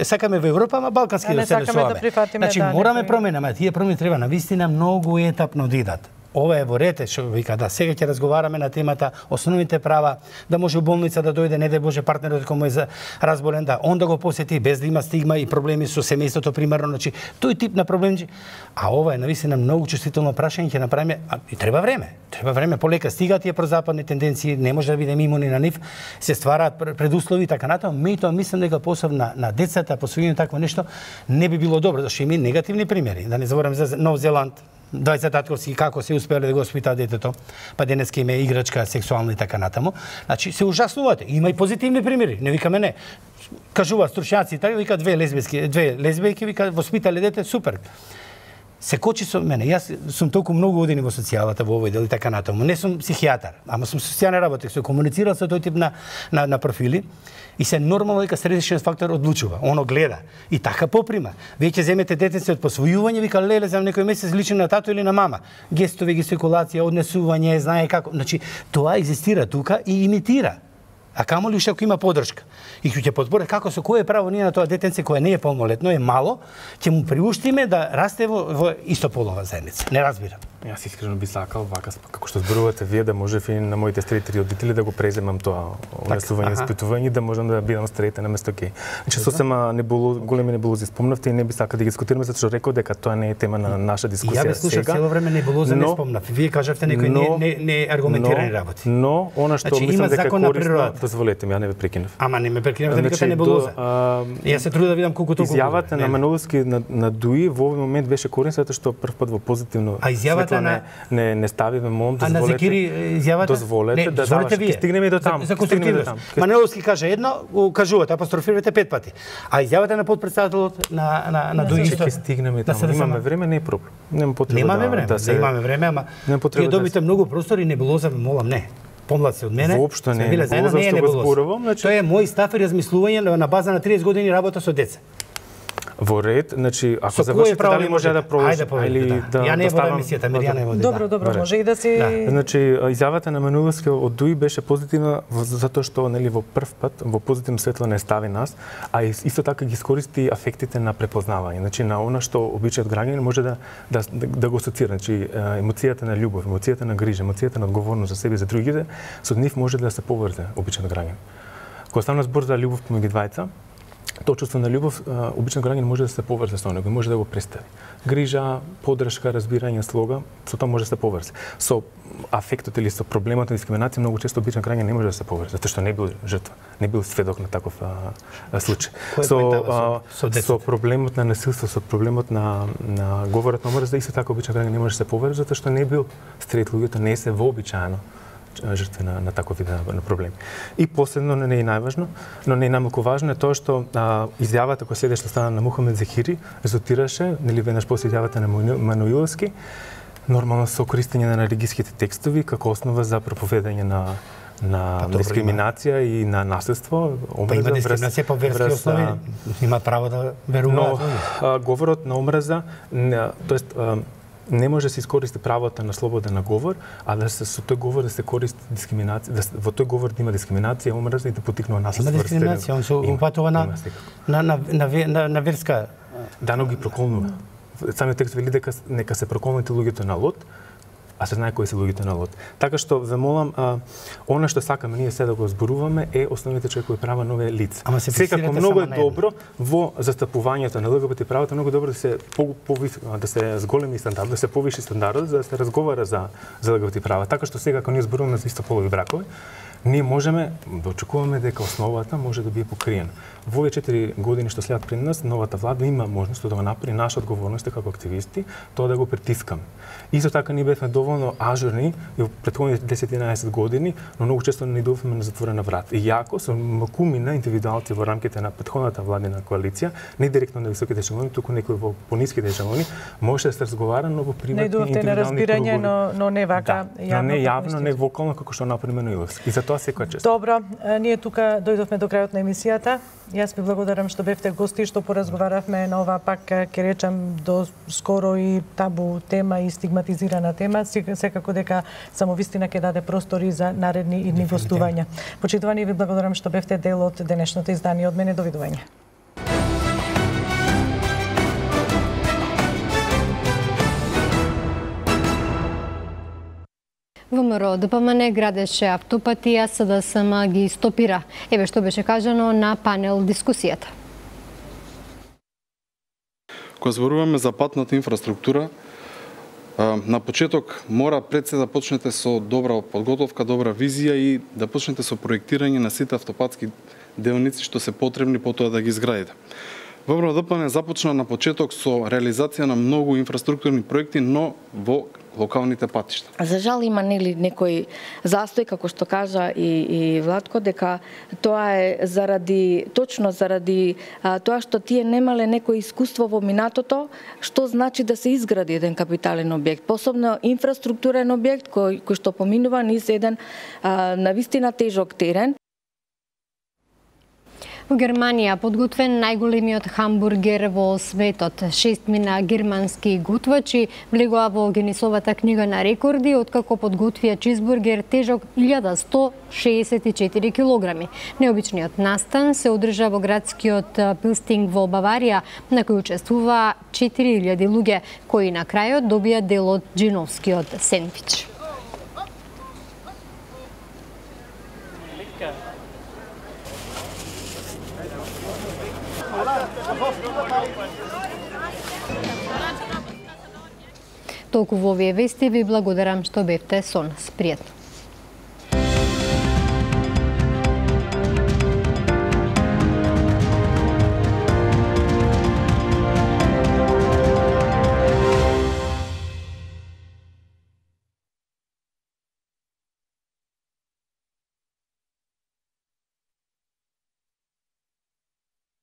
[SPEAKER 11] Сакаме во Европа, ама балкански да се решаваме. Значи мораме промена, ама тие промени треба навистина многу етапно да идат. Ова е во рете, што вика, да, сега ќе разговараме на темата основните права, да може у болница да дојде, не да Боже партнерот кој е разболен, да он да го посети без да има стигма и проблеми со семејството примарно, значи тој тип на проблеми. А ова е навистина многу чувствително прашање, ќе направиме, и треба време. Треба време, полека стигаат тие прозападни тенденции, не може да бидеме имуни на нив, се ствараат предуслови и така натаму. Меѓутоа мислам дека посебно на децата, посвојување такво нешто не би било добро, зашто има и негативни примери. Да не забораваме за Нов Зеланд, 20 татковски како се успеале да го воспитаат детето, па денеска има играчка сексуална и така натаму. Значи се ужаснувате. Има и позитивни примери, не викаме не. Кажуваат стручњаци, така вика две лесбијки вика воспитале дете, супер. Се кочи со мене. Јас сум толку многу години во социјалата во овој дел и така натаму. Не сум психијатар, ама сум социјален работник, се комуницирал со тој тип на профили и се нормално дека средишниот фактор одлучува, оно гледа и така поприма. Веќе земете детенце од посвојување, вика леле за некој месец личи на тато или на мама. Гестови, гестикулација, однесување, знае како. Значи тоа екзистира тука и имитира. А камо ли уште ако има подршка? И ќе подборе како со кое право ние на тоа детенце кое не е полнолетно, е мало, ќе му приуштиме да расте во истополова заедница. Не разбирам.
[SPEAKER 8] Јас искрено би сакал вака како што зборувате вие да можев и на моите старите родители да го преземам тоа однесување, испитување, да можам да бидам старите на место ке. Значи сосема големи небулози спомнавте и не би сакал да ги дискутираме затоа што реков дека тоа не е тема на наша дискусија.
[SPEAKER 11] Ја ве слушав цело време небулоза не спомнав. Вие кажавте некои не аргументирани работи.
[SPEAKER 8] Но она што мислам дека корисно, дозволете ми, ја не ве прекинав.
[SPEAKER 11] Ама не ме прекинав, да викате небулоза. Јас се трудам да видам колку толку.
[SPEAKER 8] Изјавата на Маноловски на Дуи во овој момент беше корисна затоа што прв пат во позитивно не ставиме мом,
[SPEAKER 11] дозволете. А на Зекири изјавата?
[SPEAKER 8] Дозволете да даваш. Стигнеме до таму.
[SPEAKER 11] За конструктивност. Маноловски каже едно, кажувате, апострофирате 5 пати. А изјавата на подпредседателот на Дуи
[SPEAKER 8] ќе стигнеме таму. Имаме време, не е проблем. Нема потреба
[SPEAKER 11] да имаме време, ама ќе добите многу простор и небулоза ве молам, не. Помлад се од мене.
[SPEAKER 8] Воопшто не е небулоза што го зборувам.
[SPEAKER 11] Тоа е мој став и размислување на база на 30 години работа со деца.
[SPEAKER 8] Во ред, значи ако завршите дали може да продолжи или да
[SPEAKER 11] ја не водам емисијата, Миријана е води.
[SPEAKER 5] Добро, може и да се.
[SPEAKER 8] Значи изјавата на Маноловски од Дуи беше позитивна затоа што нели во прв пат во позитивно светло не стави нас, а исто така ги искористи афектите на препознавање. Значи на она што обичаат граѓани може да го асоцира, значи емоцијата на љубов, емоцијата на грижа, емоцијата на одговорност за себе и за другите, со нив може да се поврзе обичаат граѓани. Кога стана збор за љубов помеѓу двајца, тоа чувство на љубов, обичен граѓанин може да се поврзе со него, може да го представи. Грижа, подршка, разбирање, слога, со тоа може да се поврзе. Со афектот или со проблемот на дискриминација многу често обичен граѓанин не може да се поврзе, затоа што не бил жртва, не бил сведок на таков случај. Со проблемот на насилство, со проблемот на говорот на омрза, исто така обичен граѓанин не може да се поврзе затоа што не бил стрет луѓето, не се вообичаено жртви на таков вид на проблеми. И последно, не е најважно, но не е најмалку важно е тоа што изјавата која следеше стана на Мухамед Зекири резултираше, нели веднаш после изјавата на Мануиловски, нормално со користење на религиските текстови како основа за проповедање на дискриминација и на наследство.
[SPEAKER 11] Па има дискриминација по верски основи, има право да веруваат.
[SPEAKER 8] Но говорот на омраза, тоест не може да се искористи правото на слободен говор, а да се со тој говор да се користи дискриминација, во тој говор да има дискриминација, омраза и да поттикнува наследство.
[SPEAKER 11] Има дискриминација, он се упатува на верска.
[SPEAKER 8] Да, но ги проколнува. Самиот текст вели дека нека се проколнете луѓето на Лот, а се знае кои се луѓето на Лот. Така што ве молам, она што сакаме ние се да го зборуваме е основните човекови права на овие лица. Секако многу е добро во застапувањето на ЛГБТ правата, многу добро да се зголеми стандард, да се повиши стандардот за да се разговара за ЛГБТ права. Така што сега кога ние зборуваме за истополови бракови, ние можеме да очекуваме дека основата може да биде покриена. Во овие 4 години што следат пред нас, новата влада има можност да го направи. Наша одговорност како активисти тоа да го притискаме. Исто така ние бевме доволно ажурни и во претходните 10-11 години, но многу често не идуваме на затворена врата. И јако со макумина индивидуалци во рамките на претходната владина коалиција, не директно на високите ешелони, туку некои во пониските ешелони, може да се разговара, но во приватни индивидуални кругови.
[SPEAKER 5] но не вака
[SPEAKER 8] јавно. Да, не јавно, не вокално како што например на Иловски. И за тоа секоја чест.
[SPEAKER 5] Добро, ние тука дојдовме до крајот на емисијата. Јас ви благодарам што бевте гости, што поразговаравме на ова пак ќе речам до скоро и табу тема и стигматизирана тема. Секако дека само вистина ќе даде простори за наредни идни гостувања. Почитувани, ви благодарам што бевте дел од денешното издание. Од мене довидување.
[SPEAKER 1] ВМРО ДПМН градеше автопати, а СДСМ ги стопира. Еве што беше кажано на панел дискусијата.
[SPEAKER 12] Кога зборуваме за патната инфраструктура, на почеток мора пред се да почнете со добра подготовка, добра визија и да почнете со проектирање на сите автопатски делници што се потребни потоа да ги изградите. ВМРО ДПМН започна на почеток со реализација на многу инфраструктурни проекти, но во локалните патишта.
[SPEAKER 13] За жал има некој застој, како што кажа и Владко, дека тоа е точно заради тоа што тие немале некој искуство во минатото, што значи да се изгради еден капитален објект, посебно инфраструктурен објект кој што поминува низ еден навистина тежок терен.
[SPEAKER 1] Во Германија подготвен најголемиот хамбургер во светот. 6 мина германски готвачи влегоа во Гинисовата книга на рекорди, откако подготвија чизбургер тежок 1164 килограми. Необичниот настан се одржа во градскиот Пилстинг во Баварија, на кој учествува 4000 луѓе, кои на крајот добија дел од джиновскиот сендвич. Толку во овие вести, ви благодарам што бевте со нас. Пријатно.